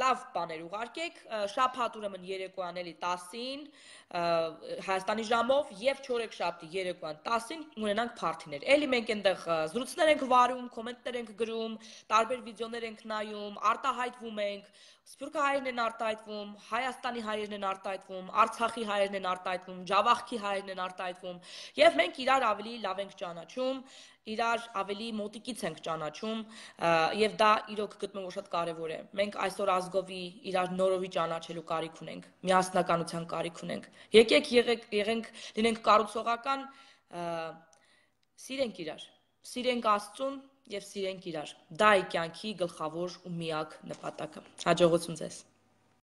լավ բաներ ուղարկեք, շաբաթ ուրեմն երեկոյան էլի տասին Հայաստանի ժամով եւ չորեքշաբթի երեկոյան տասին ունենանք փարթիներ։ Էլի մենք այնտեղ զրույցներ ենք վարում, կոմենտներ ենք գրում, տարբեր վիդեոներ ենք նայում, արտահայտվում ենք, Սփյուռքի հայերն են արտահայտվում, Հայաստանի հայերն են արտահայտվում, Արցախի հայերն են արտահայտվում, Ջավախքի հայերն են արտահայտվում եւ մենք իրար ավելի լավ ենք ճանաչում, իրար ավելի մոտիկից ենք ճանաչում եւ դա իրոք գտնում որ շատ կարեւոր է։ Մենք այսօր ազգովի իրար նորովի ճանաչելու կարիք ունենք, միասնականության կարիք ունենք։ Եկեք եղեք եղենք լինենք կառուցողական, սիրենք իրար, սիրենք Աստծուն եւ սիրենք իրար։ Դա է կյանքի գլխավոր ու միակ նպատակը։ Հաջողություն ձեզ։